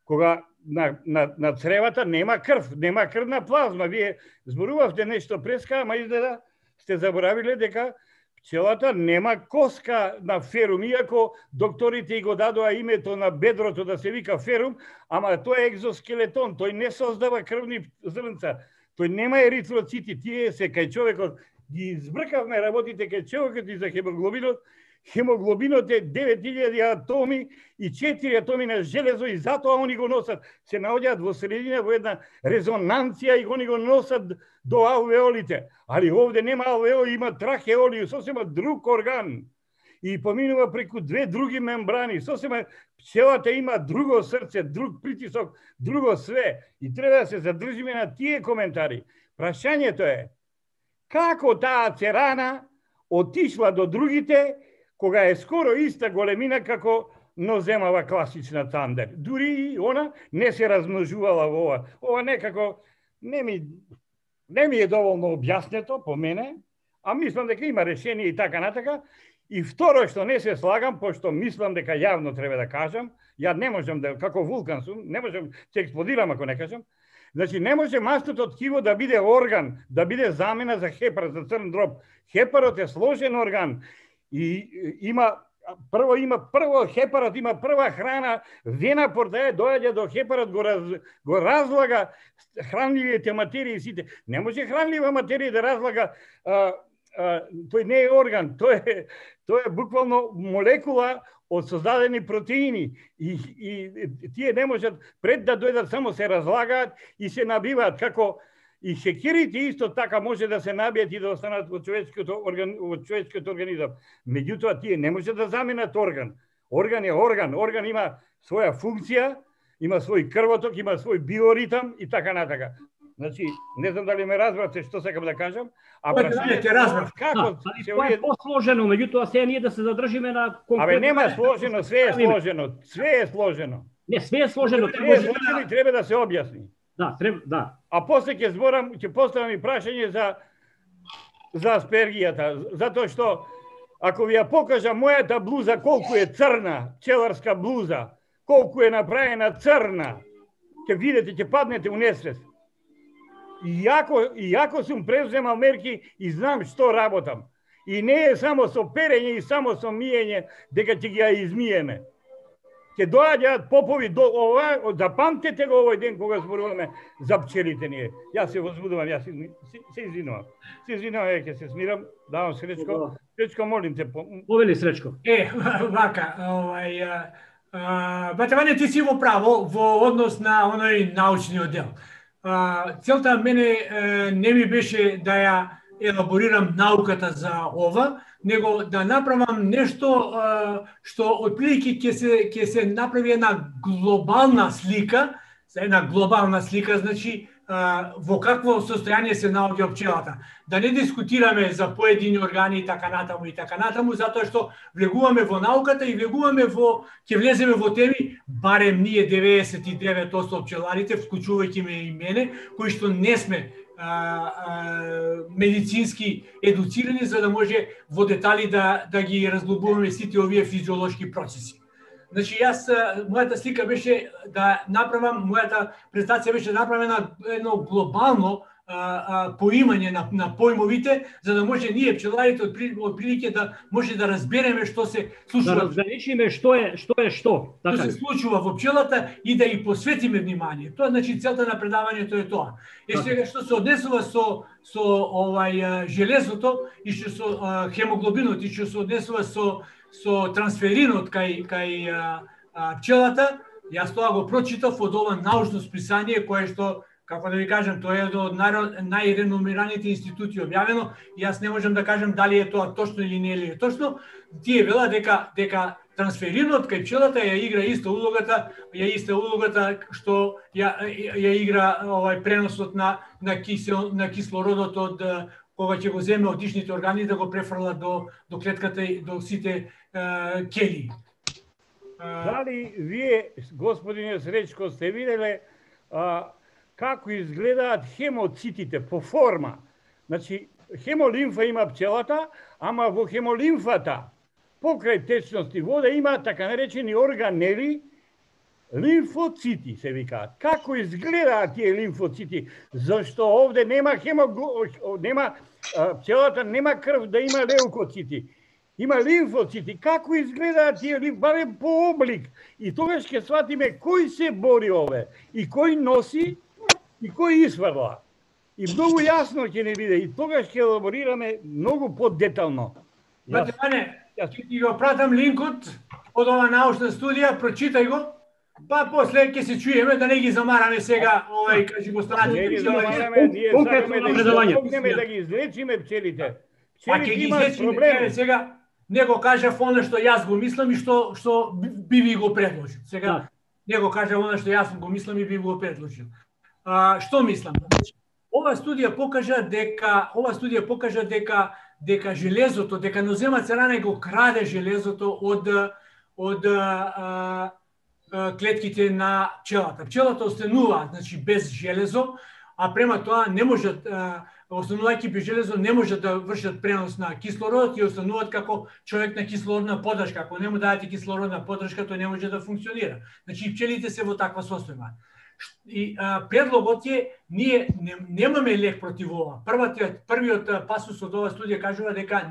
кога на, на, на цревата нема крв, нема крвна плазма. Вие зборувавте нешто преска, ама изгледа сте заборавиле дека пчелата нема коска на ферум, иако докторите и го дадоа името на бедрото да се вика ферум, ама тој е екзоскелетон, тој не создава крвни зрнца, тој нема еритроцити, тие се кај човекот, ги избркавме работите кај човекот и за хемоглобинот. Хемоглобинот е девет илјади атоми и четири атоми на железо и затоа они го носат, се наоѓаат во средина во една резонанција и они го носат до алвеолите. Али овде нема алвеоли, има трахеоли, сосема друг орган. И поминува преку две други мембрани, сосема пчелата има друго срце, друг притисок, друго све. И треба да се задржиме на тие коментари. Прашањето е, како таа церана отишла до другите, кога е скоро иста големина како ноземава класична тандер. Дури и она не се размножувала во ова. Ова некако не ми, не ми е доволно објаснето по мене, а мислам дека има решение и така натака. И второ што не се слагам, пошто мислам дека јавно треба да кажам, ја не можам да, како вулкан сум, не можам, ќе експлодирам ако не кажам. Значи, не може мастото ткиво да биде орган, да биде замена за хепар, за црн дроб. Хепарот е сложен орган. И има прво има прво хепарот има прва храна, вена портаја доаѓа до хепарот, го раз, го разлага хранливите материи сите. Не може хранлива материја да разлага, а, а, тој не е орган, тој е тој е буквално молекула од создадени протеини и, и тие не можат пред да дојдат само се разлагаат и се набиваат како. И шекерите исто така може да се набијат и да останат во човечкиот орган, во човечкиот организам. Меѓутоа тие не може да заменат орган. Орган е орган, орган има своја функција, има свој крвоток, има свој биоритам и така натака. Значи, не знам дали ме разбрате што сакам да кажам, а прашањето разбрав. Како се тоа е посложено, меѓутоа сега ние да се задржиме на конкретно. Абе нема сложено, све е сложено, све е сложено. Не, све е сложено, све е сложено и треба да се објасни. Да, треба, да. А после ќе зборам, ќе поставам и прашање за за аспергијата, затоа што ако ви ја покажам мојата блуза колку е црна, пчеларска блуза, колку е направена црна, ќе видите, ќе паднете у несвест. Иако иако сум преземал мерки и знам што работам. И не е само со перење и само со миење дека ќе ги ја измиеме. Ќе доаѓаат попови до ова, запамтете го овој ден кога зборуваме за пчелите ние. Јас се возбудувам, јас се, се извинувам. Се извинувам, ќе се смирам, давам Сречко. Сречко, молим те. Повели Сречко. Е, вака, овај, Батевање, ти си во право во однос на оној научниот дел. А, целта мене не ми беше да ја елаборирам науката за ова, него да направам нешто а, што отприлики ќе се ќе се направи една глобална слика, за една глобална слика, значи а, во какво состојание се наоѓа пчелата. Да не дискутираме за поедини органи и така натаму и така натаму, затоа што влегуваме во науката и влегуваме во ќе влеземе во теми, барем ние деветдесет и девет одсто пчеларите, вклучувајќи ме и мене, кои што не сме А, а, медицински едуцирани за да може во детали да да ги разглобуваме сите овие физиолошки процеси. Значи јас мојата слика беше да направам, мојата презентација беше направена едно глобално а, а, поимање на на поимовите за да може ние пчеларите од прилike да може да разбереме што се случува. Да разграничиме што е што е што. Така што се случува во пчелата и да ги посветиме внимание. Тоа значи целта на предавањето е тоа. И сега што се однесува со со овај железото и што со а, хемоглобинот и што се однесува со со трансферинот кај кај а, а, пчелата, јас тоа го прочитав од ова научно списание кое што, како да ви кажам, тоа е од најреномираните институти објавено и јас не можам да кажам дали е тоа точно или не е точно. Тие велат дека дека трансферинот кај пчелата ја игра иста улогата, ја иста улогата што ја ја игра овај преносот на на кисел на кислородот од кога ќе го земе од дишните органи да го префрла до до клетката и до сите е, кели. Дали вие, господине Сречко, сте виделе а, како изгледаат хемоцитите по форма. Значи, хемолимфа има пчелата, ама во хемолимфата, покрај течности вода, има така наречени органели, лимфоцити се викаат. Како изгледаат тие лимфоцити? Зашто овде нема хемо, нема пчелата нема крв да има леукоцити. Има лимфоцити. Како изгледаат тие лимфоцити? Барем по облик. И тогаш ќе сватиме кој се бори ове и кој носи и кој испарла. И многу јасно ќе не биде. И тогаш ќе елаборираме многу подетално. Бате Ване, ќе ти го пратам линкот од ова научна студија, прочитај го. Па после ќе се чуеме, да не ги замараме сега, овај, кажи го страните. Не ги замараме, ние сакаме да ги помогнеме да ги излечиме пчелите. Пчелите имаат проблеми. Сега не го кажав она што јас го мислам и што што би ви го предложил. Сега не го кажав она што јас го мислам и би го предложил. А, што мислам? Ова студија покажа дека ова студија покажа дека дека железото, дека ноземац ране го краде железото од од а, клетките на пчелата. Пчелата останува, значи без железо, а према тоа не можат, останувајќи без железо, не можат да вршат пренос на кислород и остануваат како човек на кислородна поддршка. Ако не му дадете кислородна поддршка, тој не може да функционира. Значи пчелите се во таква состојба. И а, предлогот е, ние не, немаме лек против ова. Првиот, првиот пасус од ова студија кажува дека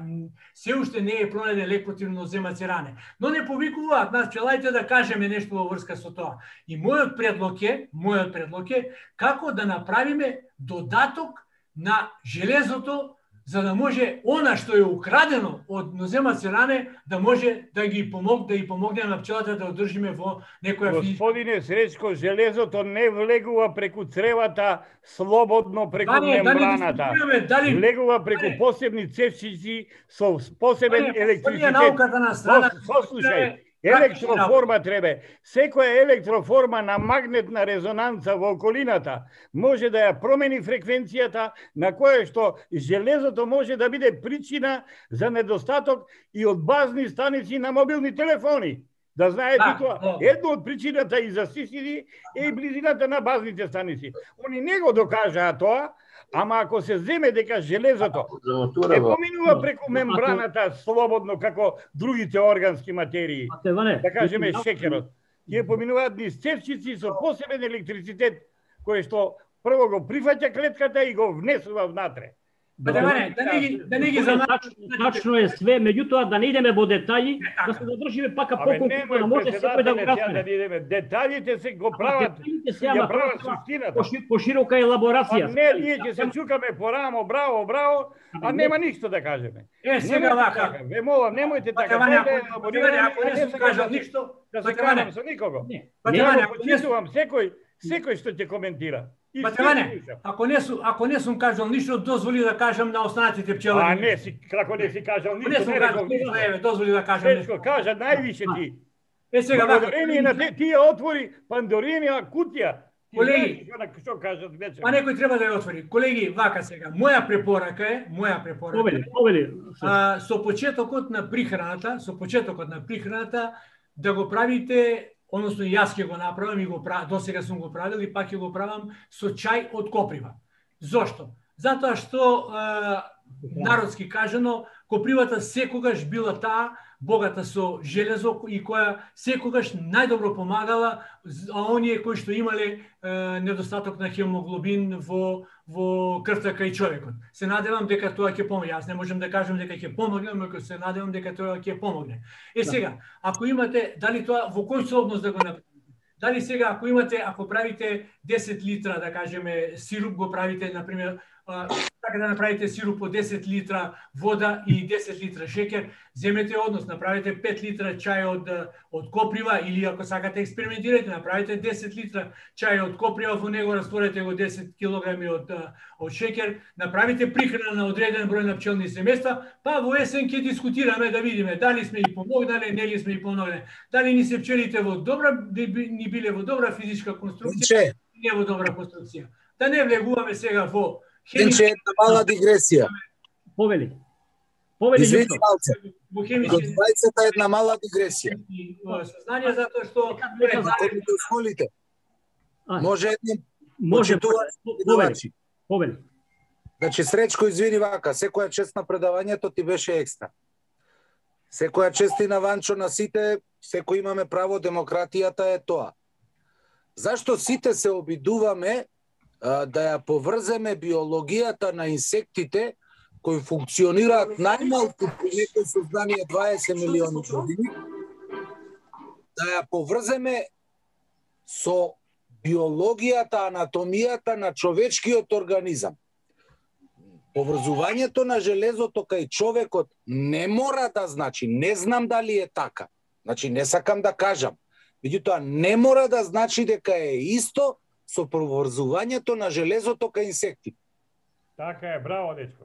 се уште не е пронајден лек против ноземаци ране. Но не повикуваат нас пчеларите да кажеме нешто во врска со тоа. И мојот предлог е, мојот предлог е како да направиме додаток на железото за да може она што е украдено од ноземаци ране да може да ги помог да и помогне на пчелата да одржиме во некоја физичка. Господине Сречко, железото не влегува преку цревата слободно преку Дане, мембраната. дали, влегува преку дане, посебни цевчици со посебен дане, електричитет. науката на страна. Послушај, електроформа треба. Секоја електроформа на магнетна резонанца во околината може да ја промени фреквенцијата на која што железото може да биде причина за недостаток и од базни станици на мобилни телефони. Да знаете да, тоа. да. Едно од причината и за сисиди е и близината на базните станици. Они не го докажаа тоа, ама ако се земе дека железото не поминува преку мембраната слободно како другите органски материи, да кажеме шекерот, тие поминуваат низ цевчици со посебен електрицитет кој што прво го прифаќа клетката и го внесува внатре. Да, да, да не ги да не ги замачуваме. Тачно е све, меѓутоа да не идеме во детаји, да се задржиме пака поколку да може секој да го разбере. Да идеме. Детаљите се го прават, ја прават суштината. Поширока елаборација. А не, ние ќе се чукаме по рамо, браво, браво, а нема ништо да кажеме. Е, сега вака. Ве молам, немојте така. Ако не се кажа ништо, да се кажам со никого. Ја го почитувам секој, секој што ќе коментира. Батеване, ако не сум ако не сум кажал ништо, дозволи да кажам на останатите пчелари. А не си како не си кажал ништо, не сум кажал ништо, еве, дозволи да кажам нешто. Сречко, кажа највише ти. Е сега благодарение на тие отвори Пандоринија кутија. Колеги, што кажат вече? Па некој треба да ја отвори. Колеги, вака сега, моја препорака е, моја препорака. Повели, повели. А, со почетокот на прихраната, со почетокот на прихраната да го правите, односно јас ќе го направам и го правам, досега сум го правил и пак ќе го правам со чај од коприва. Зошто? Затоа што е, народски кажано, копривата секогаш била таа богата со железо и која секогаш најдобро помагала а оние кои што имале е, недостаток на хемоглобин во во крвта кај човекот. Се надевам дека тоа ќе помогне. Јас не можам да кажам дека ќе помогне, но се надевам дека тоа ќе помогне. Е сега, ако имате, дали тоа во кој сооднос да го направите? Дали сега ако имате, ако правите десет литра, да кажеме, сируп го правите, на пример, така да направите сируп од десет литра вода и десет литра шекер, земете однос, направите пет литра чај од од коприва или ако сакате експериментирате, направите десет литра чај од коприва, во него растворете го десет килограми од од шекер, направите прихрана на одреден број на пчелни семејства, па во есен ќе дискутираме да видиме дали сме и помогнале, не ли сме и помогнале, дали ни се пчелите во добра ни биле во добра физичка конструкција, не во добра конструкција. Да не влегуваме сега во Денче, една мала дигресија. Повели. Повели Извини нешто. малце. До двајцата една мала дигресија. Сознание затоа што ако ми дозволите. Може едно Може, Почитувани повели, предавачи. повели. Значи, Сречко, извини вака, секоја чест на предавањето ти беше екстра. Секоја чест и на Ванчо, на сите, секој имаме право, демократијата е тоа. Зашто сите се обидуваме а, да ја поврземе биологијата на инсектите кои функционираат најмалку при некој создание дваесет милиони години, да ја поврземе со биологијата, анатомијата на човечкиот организам. Поврзувањето на железото кај човекот не мора да значи, не знам дали е така, значи не сакам да кажам, меѓутоа не мора да значи дека е исто со поврзувањето на железото кај инсекти. Така е, браво, дечко.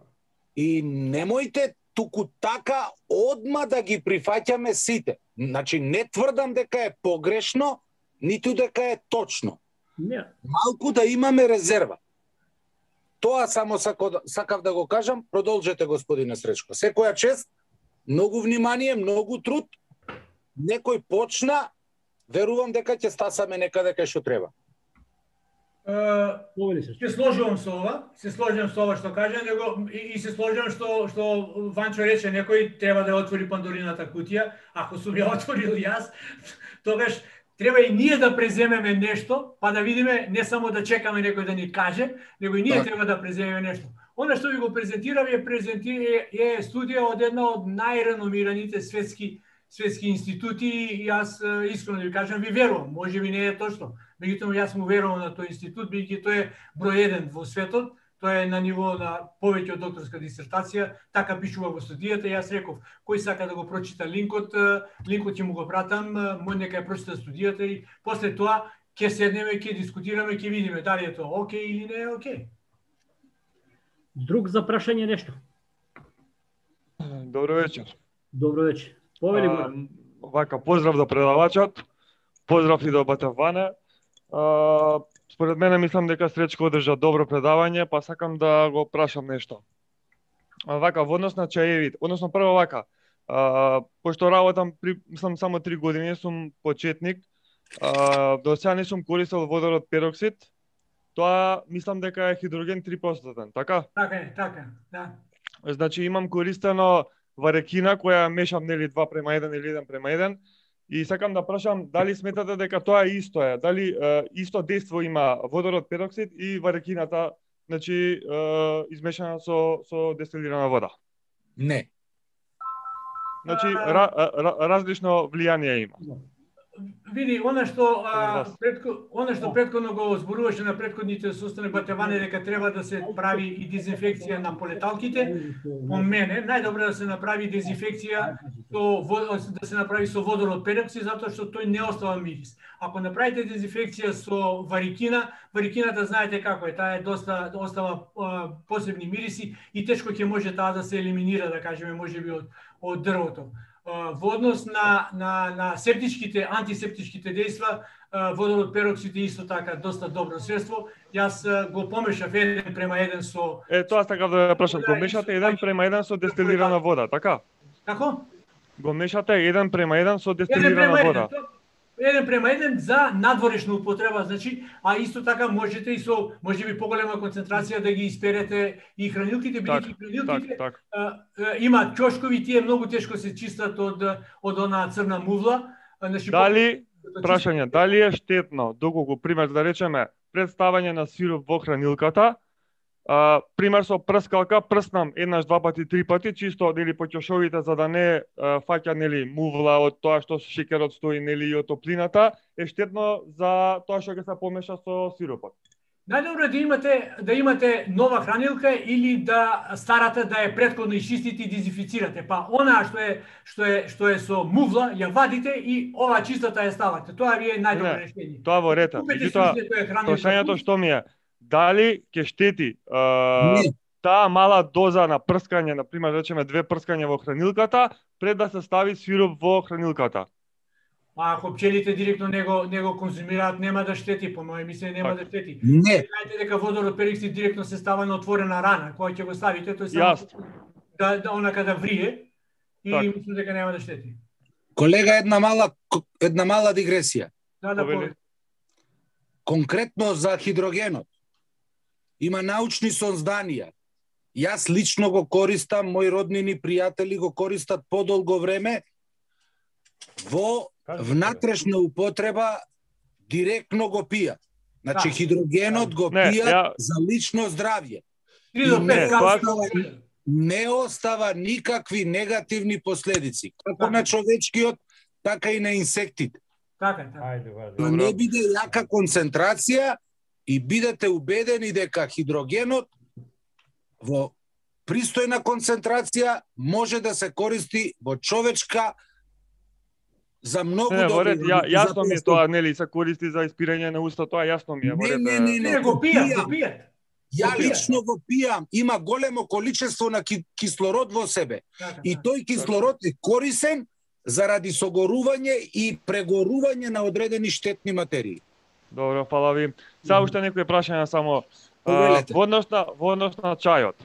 И немојте туку така одма да ги прифаќаме сите. Значи не тврдам дека е погрешно, ниту дека е точно. Не. Малку да имаме резерва. Тоа само сако, сакав да го кажам, продолжете, господине Сречко. Секоја чест, многу внимание, многу труд, некој почна, верувам дека ќе стасаме некаде кај што треба. Повели се. Се сложувам со ова, се сложувам со ова што кажа, него и, и се сложувам што што Ванчо рече, некој треба да отвори Пандорината кутија, ако сум ја отворил јас, тогаш треба и ние да преземеме нешто, па да видиме, не само да чекаме некој да ни каже, него и ние Так. треба да преземеме нешто. Она што ви го презентирав е презентира е студија од една од најреномираните светски светски институти и јас е, искрено да ви кажам, ви верувам, може би не е точно. Меѓутоа јас му верувам на тој институт, бидејќи тој е број еден во светот, тој е на ниво на повеќе од докторска дисертација, така пишува во студијата. Јас реков, кој сака да го прочита линкот, е, линкот ќе му го пратам, е, мој нека ја прочита студијата и после тоа ќе седнеме, ќе дискутираме, ќе видиме дали е тоа окей или не е окей. Друг за прашање нешто? Добро вечер. Добро вечер. Повели А, му. вака, поздрав до предавачот, поздрав и до Батаване. А, според мене мислам дека Сречко одржа добро предавање, па сакам да го прашам нешто. А, вака, во однос на чаевите, односно прво вака, а, пошто работам, при, мислам само три години, сум почетник, а, до сега не сум користел водород пероксид, тоа мислам дека е хидроген три проценти, така? Така е, така, да. Значи имам користено варекина која мешам нели два према еден или еден према еден и сакам да прашам дали сметате дека тоа исто е, дали е, исто дејство има водород пероксид и варекината, значи е, измешана со со дестилирана вода. Не. Значи ра, ра, различно влијание има. Види, она што а, Вас. предко, она што претходно го зборуваше на претходните состојби Батеване дека треба да се прави и дезинфекција на полеталките, по мене најдобро е да се направи дезинфекција со во- да се направи со водород пероксид затоа што тој не остава мирис. Ако направите дезинфекција со варикина, варикината знаете како е, таа е доста остава а, посебни мириси и тешко ќе може таа да се елиминира, да кажеме, можеби од од дрвото. Во однос на, на, на септичките, антисептичките дејства, водород пероксид е исто така доста добро средство. Јас го помешав еден према еден со... Е, тоа сакав да ја прашам, го мешате еден према еден со дестилирана вода, така? Како? Го мешате еден према еден со Еден дестилирана према еден. вода. Тоа- Еден према еден за надворешна употреба, значи, а исто така можете и со можеби поголема концентрација да ги исперете и хранилките, Так, бидејќи так, хранилките так. а, а, има чошкови, тие многу тешко се чистат од од онаа црна мувла. А, значи, Дали, по- прашање, дали е штетно, доколку, пример, да речеме, представање на сироп во хранилката, а, пример со прскалка, прснам еднаш, два пати, три пати, чисто, нели, по ќошовите, за да не а, фаќа, нели, мувла од тоа што шеќерот стои, нели, и од топлината, е штетно за тоа што ќе се помеша со сиропот. Најдобро е да имате да имате нова хранилка или да старата да е претходно исчистите и дезинфицирате. Па онаа што е што е што е со мувла ја вадите и ова чистата ја ставате. Тоа ви е најдобро Не, решение. Тоа во рета. Купете Меѓутоа, си некоја хранилка. прашањето што ми е, дали ќе штети а, Не. таа мала доза на прскање, на пример, да речеме две прскања во хранилката, пред да се стави сироп во хранилката. А ако пчелите директно него него конзумираат, нема да штети, по моје мислење нема Така. да штети. Не. Знаете дека водород пероксид директно се става на отворена рана, која ќе го ставите, тој само Јасно. да да онака да врие и Така. мислам дека нема да штети. Колега, една мала една мала дигресија. Да, да, Повели. повели. конкретно за хидрогенот. Има научни сонзданија. Јас лично го користам, мои роднини, пријатели го користат подолго време во внатрешна употреба, директно го пијат. Значи, хидрогенот го Не, пијат ја- за лично здравје. три до И пет не, капсули. тоа- Не остава никакви негативни последици, како на човечкиот, така и на инсектите. Така, така. Ајде, вади. Да не биде јака концентрација и бидете убедени дека хидрогенот во пристојна концентрација може да се користи во човечка за многу Не, не, во ред, добри ја, работи. јасно ми е Затоа тоа, нели, се користи за испирање на уста, тоа јасно ми е. Во Не, ред, не, е, не, Не, го пијат, го пијат. Ја Го пијат. лично го пијам, има големо количество на ки- кислород во себе. Така, И така. тој кислород е корисен заради согорување и прегорување на одредени штетни материи. Добро, фала ви. Сега уште некои прашања само. А, Повелете. во однос на во однос на чајот.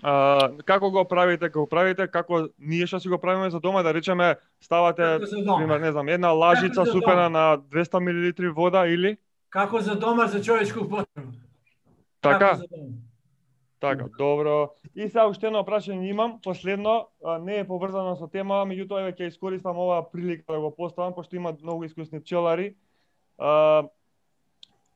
А, како го правите, како го правите, како ние што си го правиме за дома, да речеме, ставате, Како за дома. пример, не знам, една лажица Како за супена дома. на двеста милилитри вода или Како за дома за човечку употреба. така? Како за дома. Така, добро. И сега уште едно прашање имам, последно, а, не е поврзано со тема, меѓутоа еве ќе искористам оваа прилика да го поставам, пошто има многу искусни пчелари. А,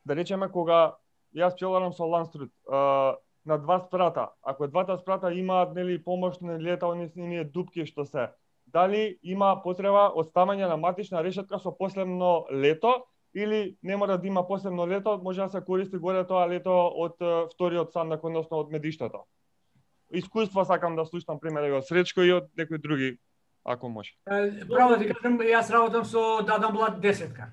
да речеме, кога јас пчеларам со Ланструд, а, на два спрата, ако двата спрата имаат, нели, помошни летални оние дупки што се, дали има потреба од ставање на матична решетка со последно лето, или не мора да има посебно лето, може да се користи горе тоа лето од е, вториот сандак, односно од медиштето. Искуства сакам да слушам примери од Сречко и од некои други, ако може. Е, Право да ти кажам, јас работам со Дадан Блад десетка.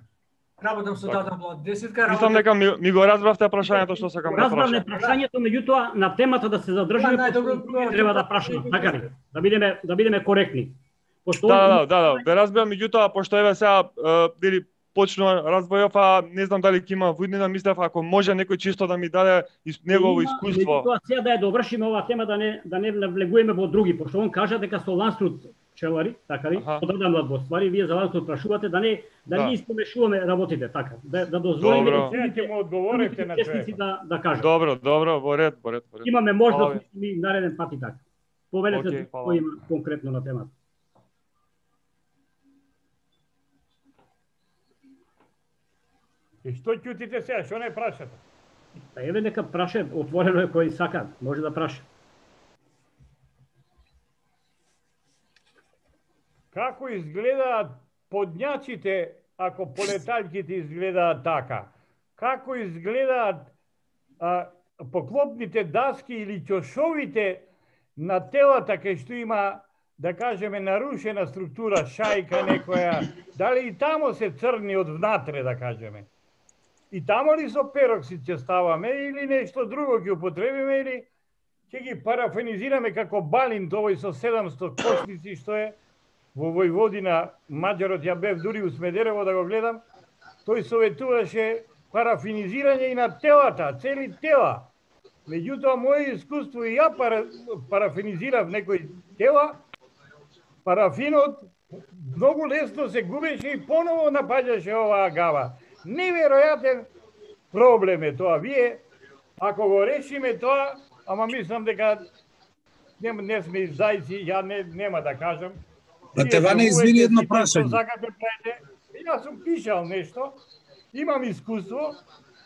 Работам со Така. Дадан Блад десетка. Мислам дека ми, ми го разбравте прашањето што сакам да Разбравме прашам. прашањето, меѓутоа на темата да се задржиме, Да, најдобро- пошто треба да прашаме, така ли? Да бидеме да бидеме коректни. Пошто Да, да, да, да, да разбирам, меѓутоа пошто еве сега е, дели почнува разбојов, а не знам дали ќе има виднина, мислев ако може некој чисто да ми даде ис, негово Има, искуство. Меѓутоа сега да ја довршиме оваа тема, да не да не навлегуваме во други, пошто он кажа дека со Ланструд пчелари, така ли? Аха. Подадам во ствари, вие за Ланструд прашувате да не да Да. не испомешуваме работите, така. Да да дозволиме Добро. да Сега ќе му одговорите на учесници човекот. да да кажат. Добро, добро, во ред, во ред, во ред. Имаме Фала можност ви. ми нареден пат и така. Повелете Океј, фала. кој има конкретно на темата. И што ќутите сега, што не прашате? Па еве нека праше, отворено е кој сака, може да праше. Како изгледаат подњаците ако полетаljките изгледаат така? Како изгледаат а, поклопните даски или ќошовите на телата кај што има, да кажеме, нарушена структура, шајка некоја, дали и тамо се црни од внатре, да кажеме? И тамо ли со пероксид ќе ставаме или нешто друго ќе употребиме или ќе ги парафинизираме како балинт овој со седамсто кошници што е во Војводина, Маđарот, ја бев дури у Смедерево да го гледам, тој советуваше парафинизирање и на телата, цели тела. Меѓутоа, моје искуство и ја пара, парафинизирав некои тела, парафинот многу лесно се губеше и поново напаѓаше оваа гава. Неверојатен проблем е тоа. Вие, ако го решиме тоа, ама мислам дека не, не сме зајци, ја не, нема да кажам. Па те Ване, извини едно Што прашање. сакате правите. Јас сум пишал нешто, имам искуство,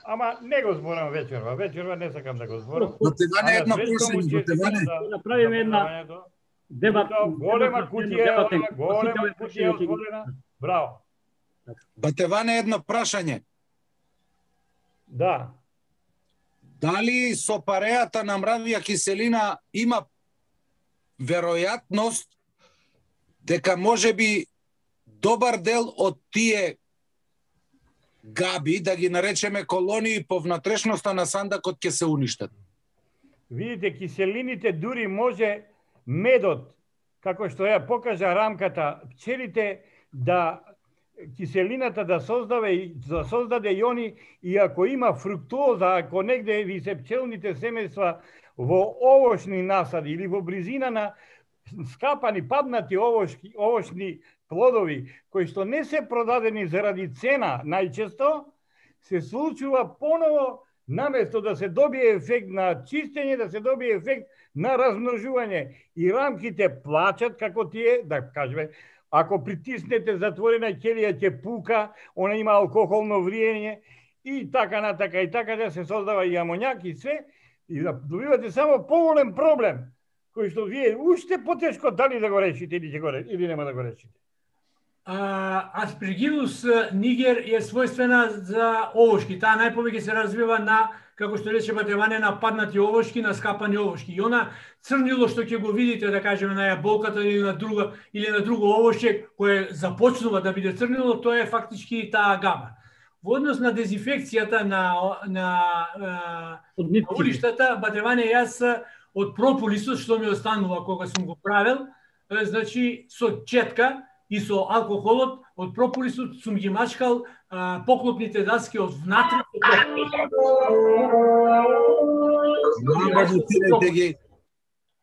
ама не го зборам вечерва. Вечерва не сакам да го зборам. Па те Ване, А на едно Сречко му прашање, па те честитам Ване. за- Направиме за една предавањето. Дебат, Тоа голема дебат, кутија, дебат, ова, голема посетуваме кутија прашање, отворена. Браво. Па те Ване, едно прашање. Да. Дали со пареата на мравија киселина има веројатност дека може би добар дел од тие габи, да ги наречеме колонии по внатрешноста на сандакот, ќе се уништат? Видите, киселините дури може медот, како што ја покажа рамката, пчелите да киселината да создаде да создаде иони и ако има фруктоза, ако негде ви се пчелните семејства во овошни насади или во близина на скапани, паднати овошки, овошни плодови кои што не се продадени заради цена најчесто, се случува поново, наместо да се добие ефект на чистење, да се добие ефект на размножување. И рамките плачат како тие, да кажеме, ако притиснете затворена ќелија ќе пука, она има алкохолно вриење и така натака и така да се создава и амоњак и све, и да добивате само поголем проблем, кој што вие уште потешко дали да го решите или ќе го решите, или нема да го решите. Aspergillus niger е својствена за овошки. Таа најповеќе се развива на, како што рече Батеване, на паднати овошки, на скапани овошки. И она црнило што ќе го видите, да кажеме, на јаболката или на друга или на друго овошје кое започнува да биде црнило, тоа е фактички таа габа. Во однос на дезинфекцијата на на улиштата, Батеване, јас од прополисот што ми останува кога сум го правил, значи со четка и со алкохолот од прополисот сум ги мачкал а, поклопните даски од внатре.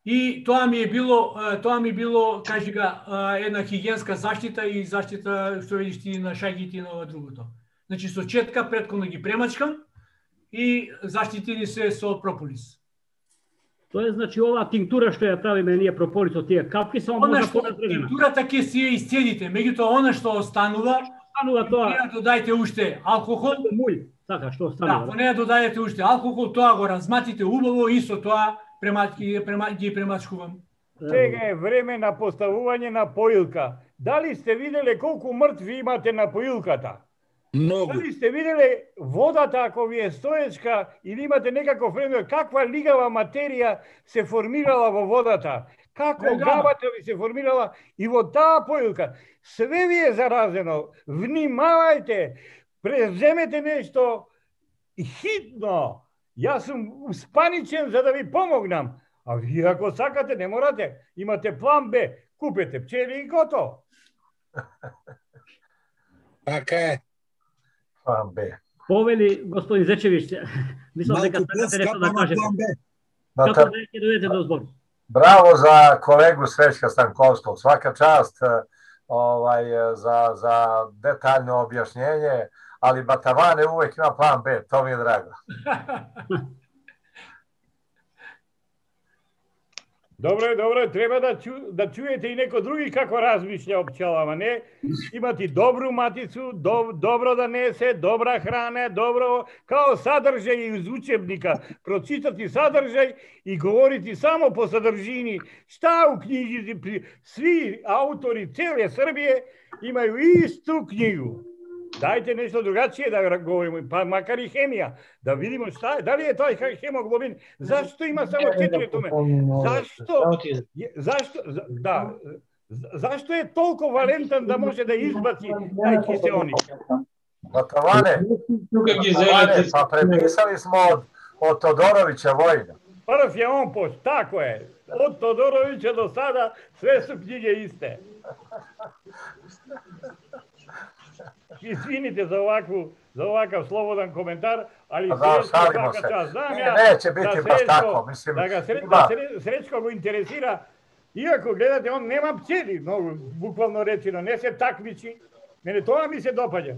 И тоа ми е било, тоа ми било, кажи га, една хигиенска заштита и заштита што видиш ти на шаѓите и на ова другото. Значи со четка претходно ги премачкам и заштитени се со прополис. Тоа е, значи, оваа тинктура што ја правиме ние прополис од тие капки, само може да поразредена. Тинктурата ќе си ја исцедите, меѓутоа она што останува, останува тоа. Неја додајте уште алкохол, муј, така што останува. Да, во неја додајте уште алкохол, тоа го разматите убаво и со тоа премачки ги премачкувам. Сега е време на поставување на поилка. Дали сте виделе колку мртви имате на поилката? Многу. Дали сте виделе водата, ако ви е стоечка или имате некаков време, каква лигава материја се формирала во водата? Како габата ви се формирала и во таа поилка? Све ви е заразено. Внимавајте, преземете нешто хитно. Јас сум успаничен за да ви помогнам. А вие ако сакате, не морате. Имате план Б. Купете пчели и готово. Така е. План Б. Повели господин Зечевич, мислам дека сакате нешто да кажете. Како да ќе дојдете до збор? Браво за колегу Среćka Станковскog. Svaka čast ovaj, za, za detaljno objašnjenje, ali Batavane uvek ima plan B, to mi je drago. Добро, добро, треба да, чу, да чуете и некој други како размишља о пчелама, не? Имати добру матицу, доб, добро да несе, добра храна, добро, као садржај из учебника, прочитати садржај и говорити само по садржини. Шта у книгите, сви аутори целе Србије имају исту книгу. Дајте нешто другачие да говориме, па макар и хемија, да видиме шта е, дали е тој хемоглобин, зашто има само четири томе? Зашто? Зашто? Да. Зашто е толку валентен да може да избаци тај киселник? Батаване, Батаване, па преписали смо од, од Тодоровиќа војна. Прв е он пост, тако е. Од Тодоровиќа до сада све су книги исте. Извините за овакvu, за овакав слободен коментар, али да, Среćko шалимо се. Час, знам Не, ја, неće biti да baš Среćko- tako, mislim, да га Сре- има. да Сре- Среćko го интересира, иако гледате, он нема пчели, многу буквално речено, не се такмичи. Мене тоа ми се допаѓа.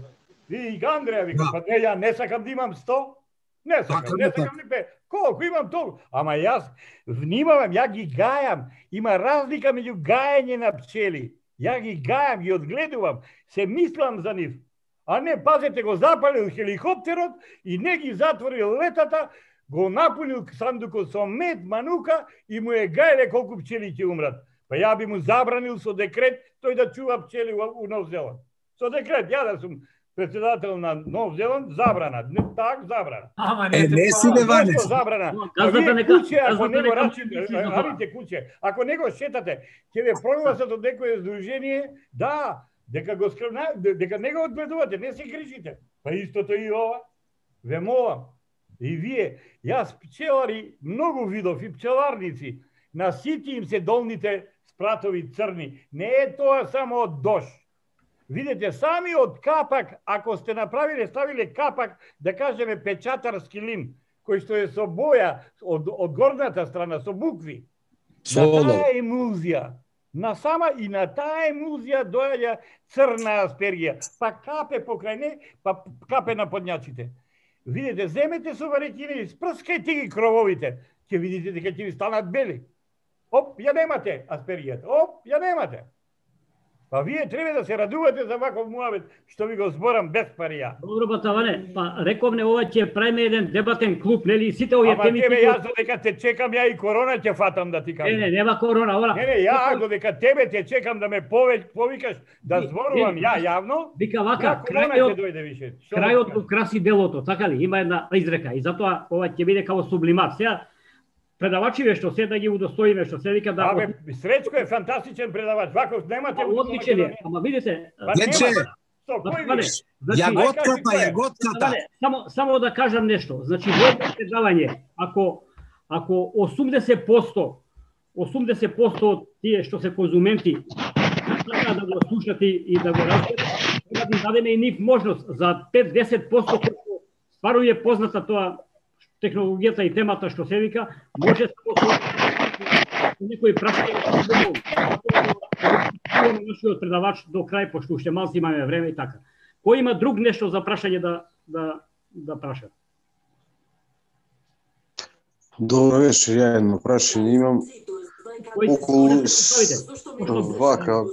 И Андреја вика, па не, ја не сакам да имам сто, не сакам, Така, не така. сакам ни пе. Колку имам толку? Ама јас внимавам, ја ги гајам. Има разлика меѓу гајање на пчели. Ја ги гајам, ги одгледувам, се мислам за нив. А не, пазете, го запалил хеликоптерот и не ги затворил летата, го напунил сандукот со мед, манука и му е гајле колку пчели ќе умрат. Па ја би му забранил со декрет тој да чува пчели у Нов Зеланд. Со декрет, ја да сум председател на Нов Зеланд, забрана. Не, так, забрана. Ама Е, не, не си бе, Ване. Зашто забрана? Газдата Вие нека- куќе, ако газдата не го нека рачите, мисли за тоа. арите куќе, ако не го шетате, ќе ве прогласат од некое здружение, да, дека го скрвна, дека не го одгледувате, не се грижите. Па истото и ова. Ве молам. И вие, јас пчелари, многу видов и пчеларници, на сити им се долните спратови црни. Не е тоа само од дош. Видете, сами од капак, ако сте направиле, ставиле капак, да кажеме печатарски лим, кој што е со боја од, од горната страна, со букви, Со на олов. таа емулзија, Насама и на таа емулзија доаѓа црна аспергија, па капе покрај не, па капе на подњаците. Видите, земете со варекина и спрскајте ги крововите, ќе видите дека ќе ви станат бели. Оп, ја немате аспергијата, оп, ја немате. Па вие треба да се радувате за ваков муабет што ви го зборам без парија. Добро, Батаване, па рековме ова ќе правиме еден дебатен клуб, нели, сите овие теми. Ама тебе јас додека те чекам, ја и корона ќе фатам да ти кажам. Не, не, нема корона, ова. Не, не, ја додека тебе те чекам да ме повеќе повикаш да зборувам ја јавно. Вика вака, крајот дојде више. Крајот го краси делото, така ли? Има една изрека и затоа ова ќе биде како сублимат. Сега предавачиве што се да ги удостоиме, што се вика да... Абе, Сречко е фантастичен предавач, ваков немате... Одличен е, ама видите... Вече, јаготката, јаготката. Само, само да кажам нешто. Значи, моето предавање, ако, ако осумдесет проценти, осумдесет проценти од тие што се конзументи сакаат да го слушат и да го разберат, треба да дадеме и нив можност за пет до десет проценти кој стварно е позната тоа технологијата и темата што се вика, може само со некој прашање да нашиот предавач до крај, пошто уште малку имаме време и така. Кој има друг нешто за прашање да да да праша? Добро вечер, ја едно прашање имам. Околу вака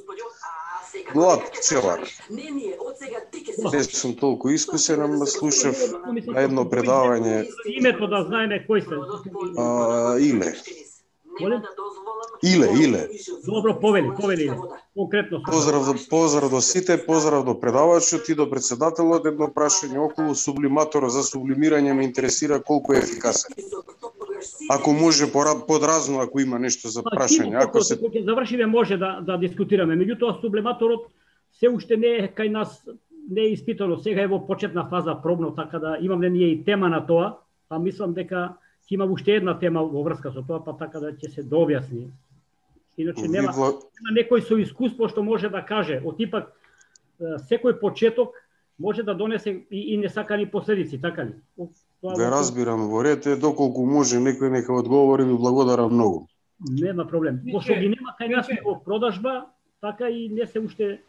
млад пчелар. Не сум толку искусен, ама слушав на едно предавање. Името да знаеме кој се. А, Иле. Иле, Иле. Добро, повели, повели. Конкретно. Поздрав до поздрав до сите, поздрав до предавачот и до председателот. Едно прашање околу сублиматорот за сублимирање ме интересира колку е ефикасен. Ако може подразно, ако има нешто за прашање, ако се Кога завршиме може да да дискутираме. Меѓутоа сублиматорот се уште не е кај нас, не е испитано. Сега е во почетна фаза пробно, така да имаме ние и тема на тоа, а мислам дека ќе има уште една тема во врска со тоа, па така да ќе се дообјасни. Иначе нема, нема некој со искуство што може да каже, од типак секој почеток може да донесе и, и несакани последици, така ли? Ве разбирам, во ред е, доколку може некој нека одговори, ви благодарам многу. Нема проблем. Пошто ги нема кај нас во продажба, така и не се уште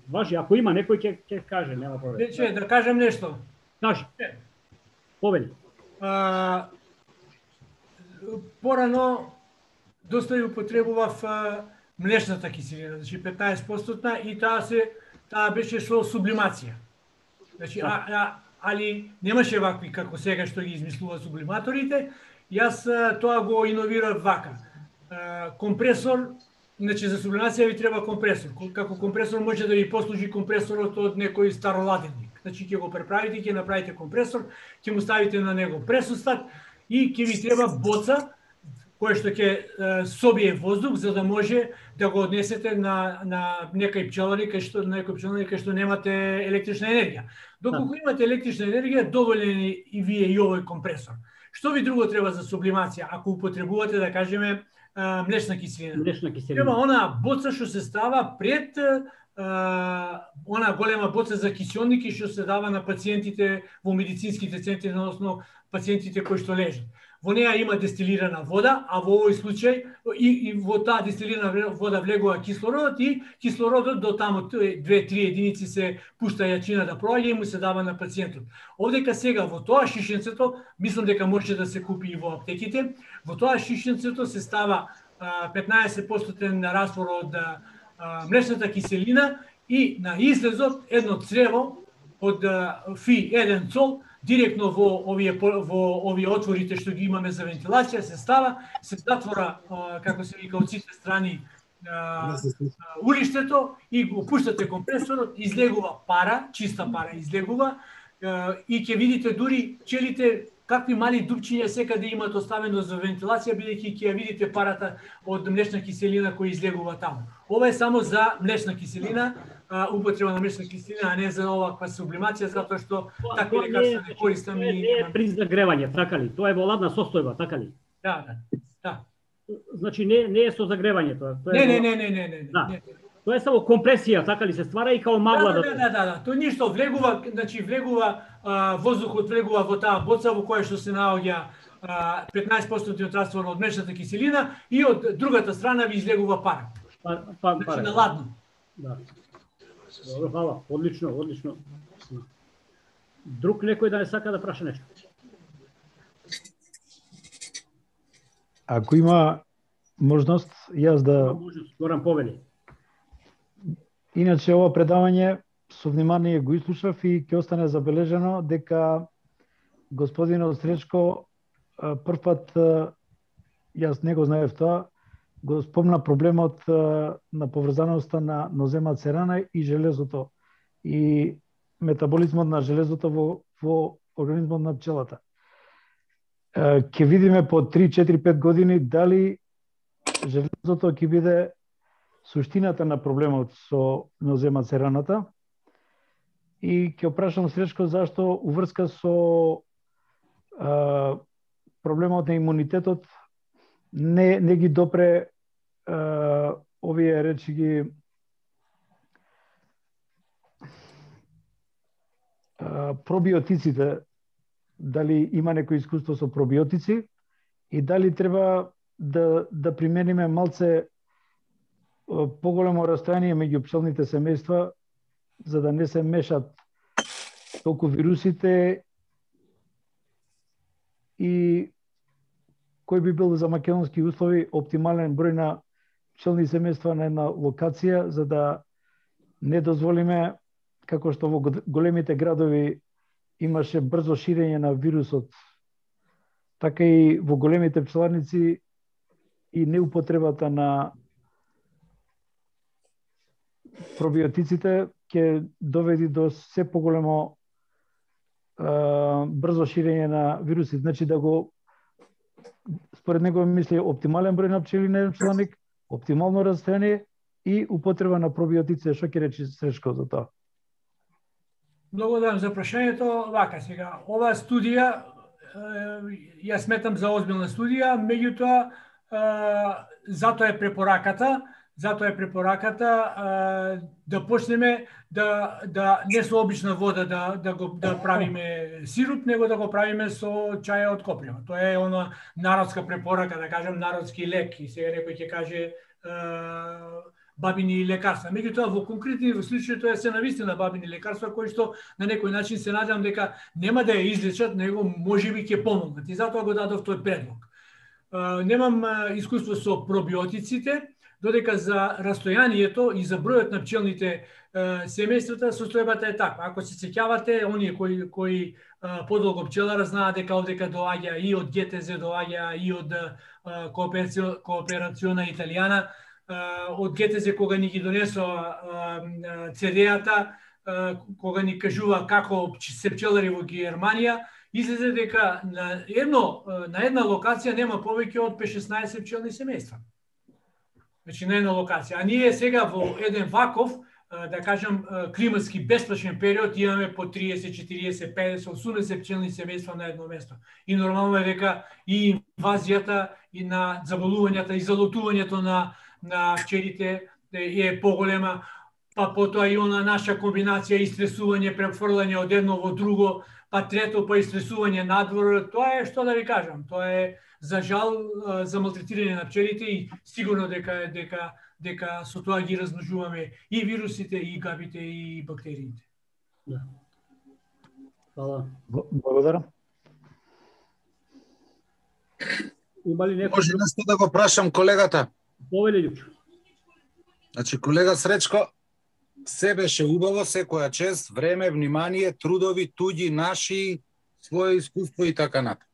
важи. Ако има некој ќе ќе каже, нема проблем. Вече да кажем нешто. Кажи. Повели. А, порано доста ја употребував млечната киселина, значи петнаесет проценти и таа се таа беше со сублимација. Значи а, а али немаше вакви како сега што ги измислува сублиматорите. Јас тоа го иновирав вака. Компресор, значи за сублимација ви треба компресор. Како компресор може да ви послужи компресорот од некој староладенник. Значи ќе го преправите, ќе направите компресор, ќе му ставите на него пресустат и ќе ви треба боца кој што ќе собие воздух за да може да го однесете на на некој пчелари кај што некој пчелари кај што немате електрична енергија. Доколку имате електрична енергија, доволен е и вие и овој компресор. Што ви друго треба за сублимација ако употребувате, да кажеме, млечна киселина? Млечна киселина. Треба она боца што се става пред Uh, она голема боца за киселники што се дава на пациентите во медицинските центри, односно пациентите кои што лежат. Во неа има дестилирана вода, а во овој случај и, и во таа дестилирана вода влегува кислородот и кислородот до таму две до три единици се пушта јачина да проаѓа и му се дава на пациентот. Овдека сега во тоа шишенцето, мислам дека може да се купи и во аптеките, во тоа шишенцето се става uh, петнаесет проценти раствор од млечната киселина и на излезот едно црево од фи еден цол директно во овие во овие отворите што ги имаме за вентилација се става, се затвора како се вика од сите страни улиштето и го пуштате компресорот, излегува пара, чиста пара излегува и ќе видите дури пчелите какви мали дупчиња секаде имаат оставено за вентилација, бидејќи ќе ја видите парата од млечна киселина која излегува таму. Ова е само за млечна киселина, употреба на млечна киселина, а не за оваква сублимација, затоа што такви лекарства не користам и не е при загревање, така ли? Тоа е во ладна состојба, така ли? Да, да. Да. Значи не не е со загревање тоа. Тоа е не, не, не, не, не, да. не. Тоа е само компресија, така ли се ствара и као магла да. Да, да, да, да. Тоа ништо влегува, значи влегува а, воздухот влегува во таа боца во која што се наоѓа петнаесет проценти од раствор од млечната киселина и од другата страна ви излегува пара. Па, па, Значи на ладно. Да. Добро, фала. Одлично, одлично. Друг некој да не сака да праша нешто? Ако има можност, јас да... Можност, Горан повели. Иначе ова предавање со внимание го изслушав и ќе остане забележено дека господинот Сречко прв пат, јас не го знаев тоа, го спомна проблемот на поврзаноста на ноземат серана и железото и метаболизмот на железото во, во организмот на пчелата. Ќе видиме по три, четири, пет години дали железото ќе биде суштината на проблемот со ноземат сераната. И ќе опрашам Сречко зашто уврска со а, проблемот на имунитетот не, не ги допре а, овие речи ги а, пробиотиците, дали има некој искуство со пробиотици и дали треба да, да примениме малце поголемо растојание меѓу пчелните семејства за да не се мешат толку вирусите и кој би бил за македонски услови оптимален број на пчелни семејства на една локација за да не дозволиме, како што во големите градови имаше брзо ширење на вирусот, така и во големите пчеларници и неупотребата на пробиотиците ќе доведи до се поголемо а, брзо ширење на вируси. Значи да го, според него мисли, оптимален број на пчели на еден пчеларник, оптимално растојание и употреба на пробиотици. Што ќе речи Сречко за тоа? Благодарам за прашањето. Вака сега, оваа студија, ја сметам за озбилна студија, меѓутоа, затоа е препораката, Затоа е препораката да почнеме да да не со обична вода да да го да правиме сируп, него да го правиме со чај од коприва. Тоа е она народска препорака, да кажам народски лек, и сега некој ќе каже е, бабини лекарства. Меѓутоа во конкретни случаи тоа се навистина бабини лекарства кои што на некој начин се надевам дека нема да ја излечат, него можеби ќе помогнат. И затоа го дадов тој предлог. Немам искуство со пробиотиците, додека за растојанието и за бројот на пчелните е, семејствата состојбата е таква. Ако се сеќавате, оние кои кои е, подолго пчелара знаат дека овдека доаѓа и од Г Т З, доаѓа и од Кооперациона Италијана, од Г Т З кога ни ги донесоа Це Де-ата, кога ни кажува како се пчелари во Германија, излезе дека на едно на една локација нема повеќе од пет-шеснаесет пчелни семејства. Значи на една локација. А ние сега во еден ваков, да кажам, климатски бесплашен период имаме по триесет, четириесет, педесет, осумдесет пчелни семејства на едно место. И нормално е дека и инвазијата и на заболувањата и залутувањето на на пчелите е поголема, па потоа и она наша комбинација истресување, префрлање од едно во друго, па трето па истресување надвор. Тоа е, што да ви кажам, тоа е за жал за малтретирање на пчелите и сигурно дека дека дека со тоа ги размножуваме и вирусите, и габите, и бактериите. Да. Фала. Благодарам. Има ли некој? Може нешто да го прашам колегата? Повели, Лјупчо. Значи, колега Сречко, се беше убаво, секоја чест, време, внимание, трудови, туѓи, наши, своје искуство и така натаму.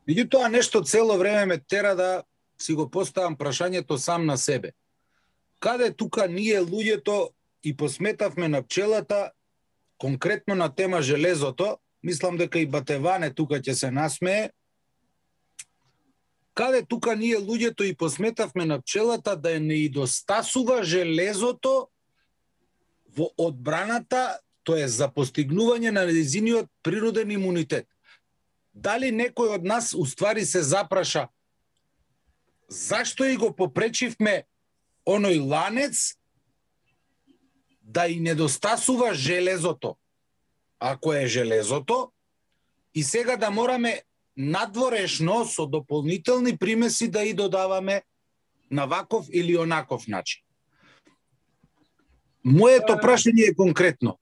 Меѓутоа, нешто цело време ме тера да си го поставам прашањето сам на себе. Каде тука ние луѓето и посметавме на пчелата, конкретно на тема железото, мислам дека и Батеване тука ќе се насмее, каде тука ние луѓето и посметавме на пчелата да не недостасува железото во одбраната, тоа е за постигнување на нејзиниот природен имунитет. Дали некој од нас уствари се запраша зашто и го попречивме оној ланец да и недостасува железото, ако е железото, и сега да мораме надворешно со дополнителни примеси да и додаваме на ваков или онаков начин. Моето прашање е конкретно.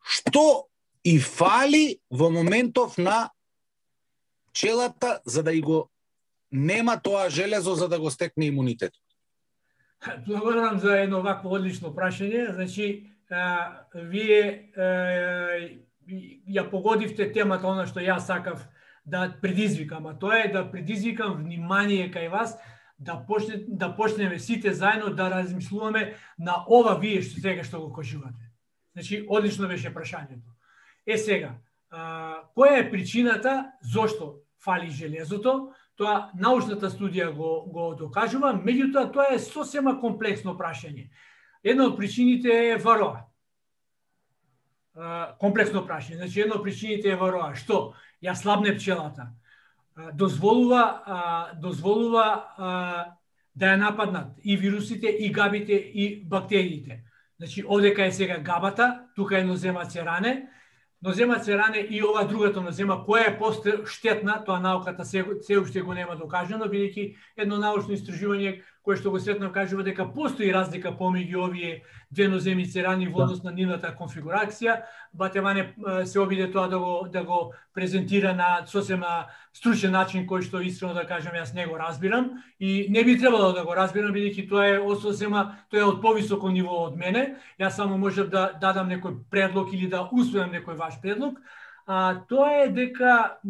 Што и фали во моментов на пчелата за да и го нема тоа железо за да го стекне имунитет? Благодарам за едно вакво одлично прашање. Значи, а, вие а, ја погодивте темата, она што јас сакав да предизвикам, а тоа е да предизвикам внимание кај вас, да почне да почнеме сите заедно да размислуваме на ова вие што сега што го кажувате. Значи, одлично беше прашањето. Е сега, а, која е причината зошто фали железото? Тоа научната студија го го докажува, меѓутоа тоа е сосема комплексно прашање. Една од причините е вароа. А, комплексно прашање. Значи, една од причините е вароа. Што? Ја слабне пчелата. А, дозволува а, дозволува а, да ја нападнат и вирусите, и габите, и бактериите. Значи, овдека е сега габата, тука е нозема церане, нозема церане и ова другата нозема, која е поштетна, тоа науката се, се уште го нема докажано, бидејќи едно научно истражување кое што го сретнав кажува дека постои разлика помеѓу овие две ноземи церани во однос на нивната конфигурација. Батеване се обиде тоа да го да го презентира на сосема стручен начин кој што искрено да кажам јас не го разбирам и не би требало да го разбирам бидејќи тоа е сосема тоа е од повисоко ниво од мене. Јас само можев да дадам некој предлог или да усвојам некој ваш предлог. А тоа е дека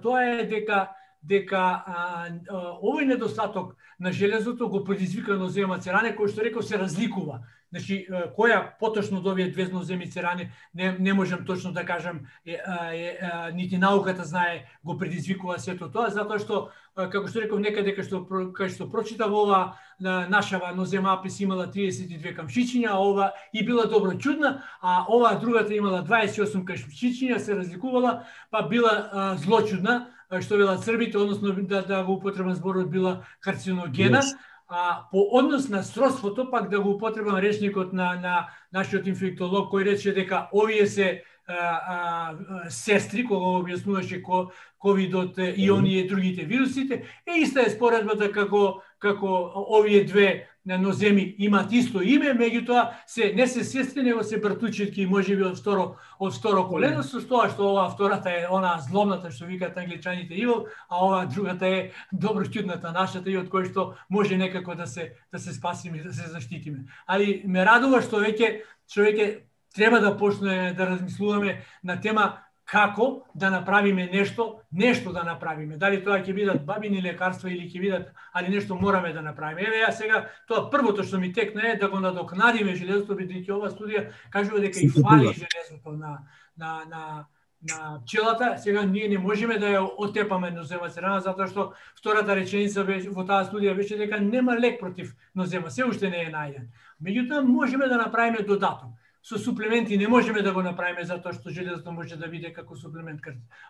тоа е дека дека а, а, овој недостаток на железото го предизвика нозема церане, кој што реков се разликува. Значи, која поточно од овие две ноземи церане, не, не можам точно да кажам, е, е, е, нити науката знае, го предизвикува сето тоа, затоа што, како што реков, некаде кај што, кај што прочитав ова, нашава нозема апис имала триесет и две камшичиња, а ова и била добро чудна, а ова другата имала дваесет и осум камшичиња, се разликувала, па била а, злочудна, што велат србите, односно да, да го употребам зборот била карциногена, yes. А по однос на сродството пак да го употребам речникот на на нашиот инфектолог кој рече дека овие се а, а, сестри кога објаснуваше ко ковидот и оние другите вирусите, е иста е споредбата како како овие две ноземи имаат исто име, меѓутоа се не се сестри, него се братучетки и можеби од второ од второ колено, со тоа што оваа втората е она злобната што викаат англичаните evil, а оваа другата е доброчудната нашата и од кој што може некако да се да се спасиме, да се заштитиме. Али ме радува што веќе човеќе треба да почне да размислуваме на тема како да направиме нешто, нешто да направиме. Дали тоа ќе бидат бабини лекарства или ќе бидат, али нешто мораме да направиме. Еве ја сега тоа првото што ми текна е да го надокнадиме железото, бидејќи ова студија кажува дека и фали железото на на на на пчелата. Сега ние не можеме да ја оттепаме нозема церана затоа што втората реченица во таа студија беше дека нема лек против нозема, се уште не е најден. Меѓутоа можеме да направиме додаток. Со суплементи не можеме да го направиме затоа што железото може да биде како суплемент,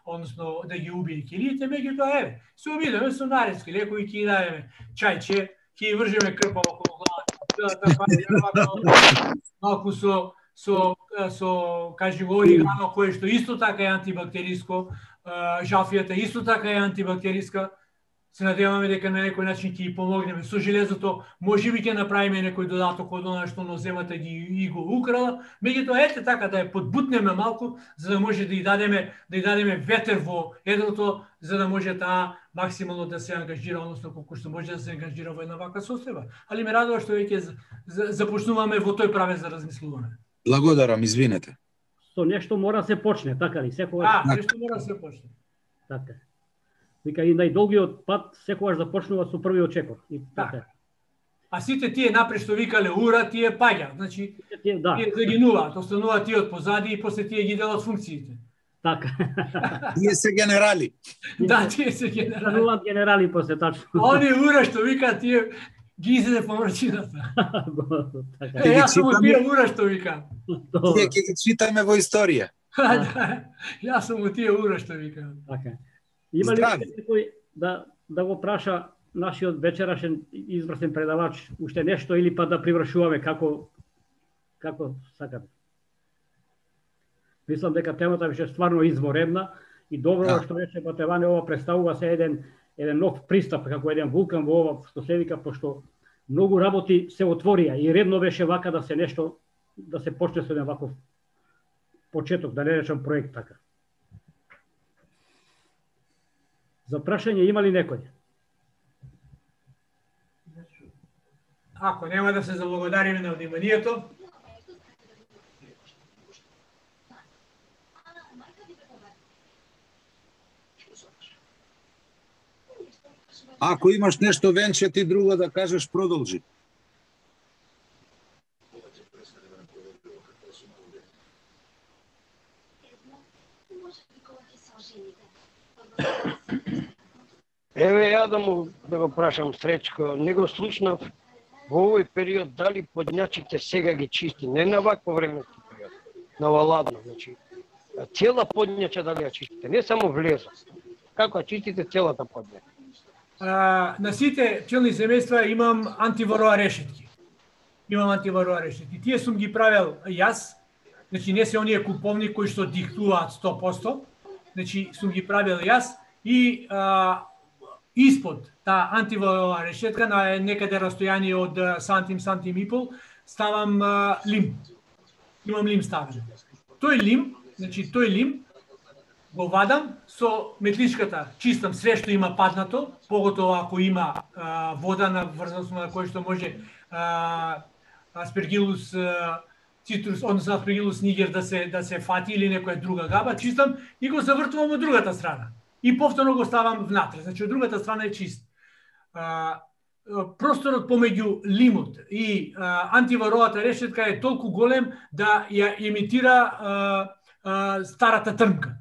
односно да ги убие килиите, меѓутоа еве, се обидеме со наредски лекови, ќе ги дадеме чајче, ќе ги вржеме крпа околу главата, малку со со со кажи го оригано кое што исто така е антибактериско, жалфијата исто така е антибактериска. Се надеваме дека на некој начин ќе ги помогнеме со железото, можеби ќе направиме некој додаток од она што ноземата ги и го украла, меѓутоа ете така да ја подбутнеме малку за да може да ја дадеме да ја дадеме ветер во едрото, за да може таа максимално да се ангажира, односно колку што може да се ангажира во една ваква состојба. Али ме радува што веќе започнуваме во тој правец да размислуваме. Благодарам, извинете. Со нешто мора се почне, така ли? Секогаш. А, нешто мора се почне. Така. Вика и најдолгиот пат секогаш започнува со првиот чекор. И така. А сите тие напред што викале ура, тие паѓаат. Значи, тие, да. тие загинуваат, остануваат тие од позади и после тие ги делат функциите. Така. Тие се генерали. Да, тие се генерали. Стануваат генерали после тачно. Они ура што викаат тие ги изеде помрачината. Така. Е, јас сум тие ура што викам. Тие ќе ги читаме во историја. Јас сум тие ура што викам. Така. Има ли некој да да го праша нашиот вечерашен изврсен предавач уште нешто или па да привршуваме како како сакате? Мислам дека темата беше стварно изворедна и добро да. Што рече Батеване, ова представува се еден еден нов пристап како еден вулкан во ова што се вика, пошто многу работи се отворија и редно беше вака да се нешто да се почне со еден ваков почеток, да не речам проект така. За прашање има ли некој? Ако нема, да се заблагодариме на вниманието. Ако имаш нешто, Венче, ти друго да кажеш, продолжи. Еве ја да му да го прашам Сречко, не го слушнав во овој период дали подњачите сега ги чисти, не на вакво временски период, на ладно, значи цела подњача дали ја чистите, не само влеза. Како ја чистите целата подњача? А, на сите пчелни семејства имам антивороа решетки. Имам антивороа решетки. Тие сум ги правел јас, значи не се оние куповни кои што диктуваат сто проценти, значи сум ги правел јас и а, испод таа антивороа решетка на некаде растојание од сантим, сантим и пол, ставам а, лим. Имам лим ставен. Тој лим, значи тој лим го вадам со метличката, чистам све што има паднато, поготово ако има а, вода на врзаност на кој што може а, аспергилус а, цитрус, односно аспергилус нигер да се да се фати или некоја друга габа, чистам и го завртувам од другата страна. И повторно го ставам внатре, значи од другата страна е чист. А, просторот помеѓу лимот и а, антивороата решетка е толку голем да ја имитира а, а, старата трнка.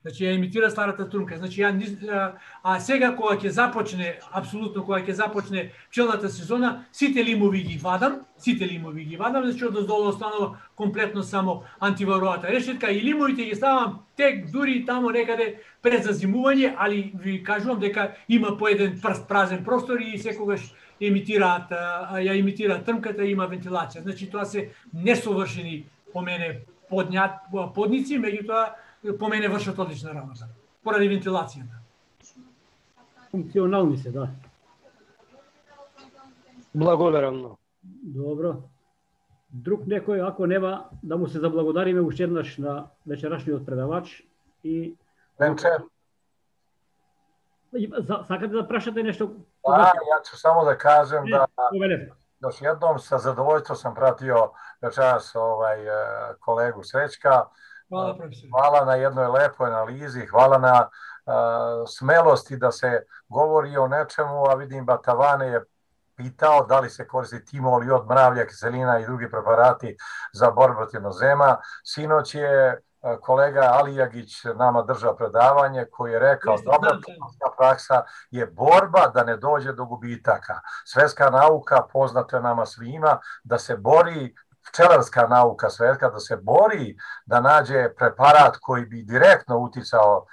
Значи ја имитира старата трнка. Значи ја а, а сега кога ќе започне, апсолутно кога ќе започне пчелната сезона, сите лимови ги вадам, сите лимови ги вадам, значи од доздолу останува комплетно само антивороата решетка и лимовите ги ставам тек дури тамо некаде пред зазимување, али ви кажувам дека има по еден прст празен простор и секогаш емитираат, ја имитираат трмката и има вентилација. Значи тоа се несовршени по мене подњат подници, меѓутоа по мене вршат одлична работа поради вентилацијата. Функционални се, да. Благодарам многу. Добро. Друг некој, ако нема, да му се заблагодариме уште еднаш на вечерашниот предавач и Венче. Сакате да прашате нешто? Да, ја ќе само да кажем да Повелете. Još jednom sa zadovoljstvom sam pratio večeras ovaj kolegu Srećka. Hvala, profesor. Hvala na jednoj lepoj analizi, hvala na uh, smelosti da se govori o nečemu, a vidim Batavane je pitao da li se koristi timol, jod, mravlja, kiselina i drugi preparati za borbu protiv nozema. Sinoć je kolega Alijagić nama držao predavanje koji je rekao dobra praksa je borba da ne dođe do gubitaka. Svetska nauka, poznato je nama svima, da se bori, pčelarska nauka svetska, da se bori da nađe preparat koji bi direktno uticao,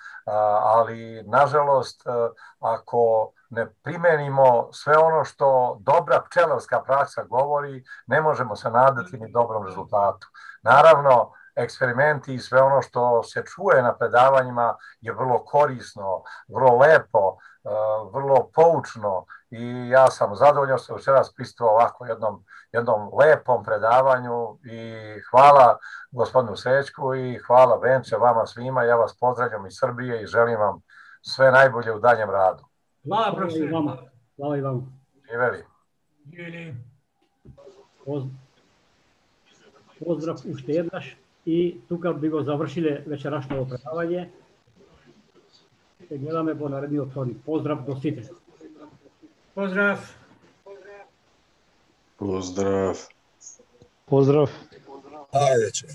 ali nažalost ako ne primenimo sve ono što dobra pčelarska praksa govori, ne možemo se nadati ni dobrom rezultatu. Naravno, eksperimenti i sve ono što se čuje na predavanjima je vrlo korisno, vrlo lepo, vrlo poučno i ja sam zadovoljan što večeras prisustvovao ovako jednom, jednom lepom predavanju i hvala gospodinu Srećku i hvala Venče vama svima. Ja vas pozdravljam iz Srbije i želim vam sve najbolje u daljem radu. Hvala, profesor. Hvala i vama. Živeli. Živeli. Поздрав уште еднаш и тука би го завршиле вечерашното предавање. Се гледаме во наредниот вторник. Поздрав до сите. Поздрав. Поздрав. Поздрав. Ајде че.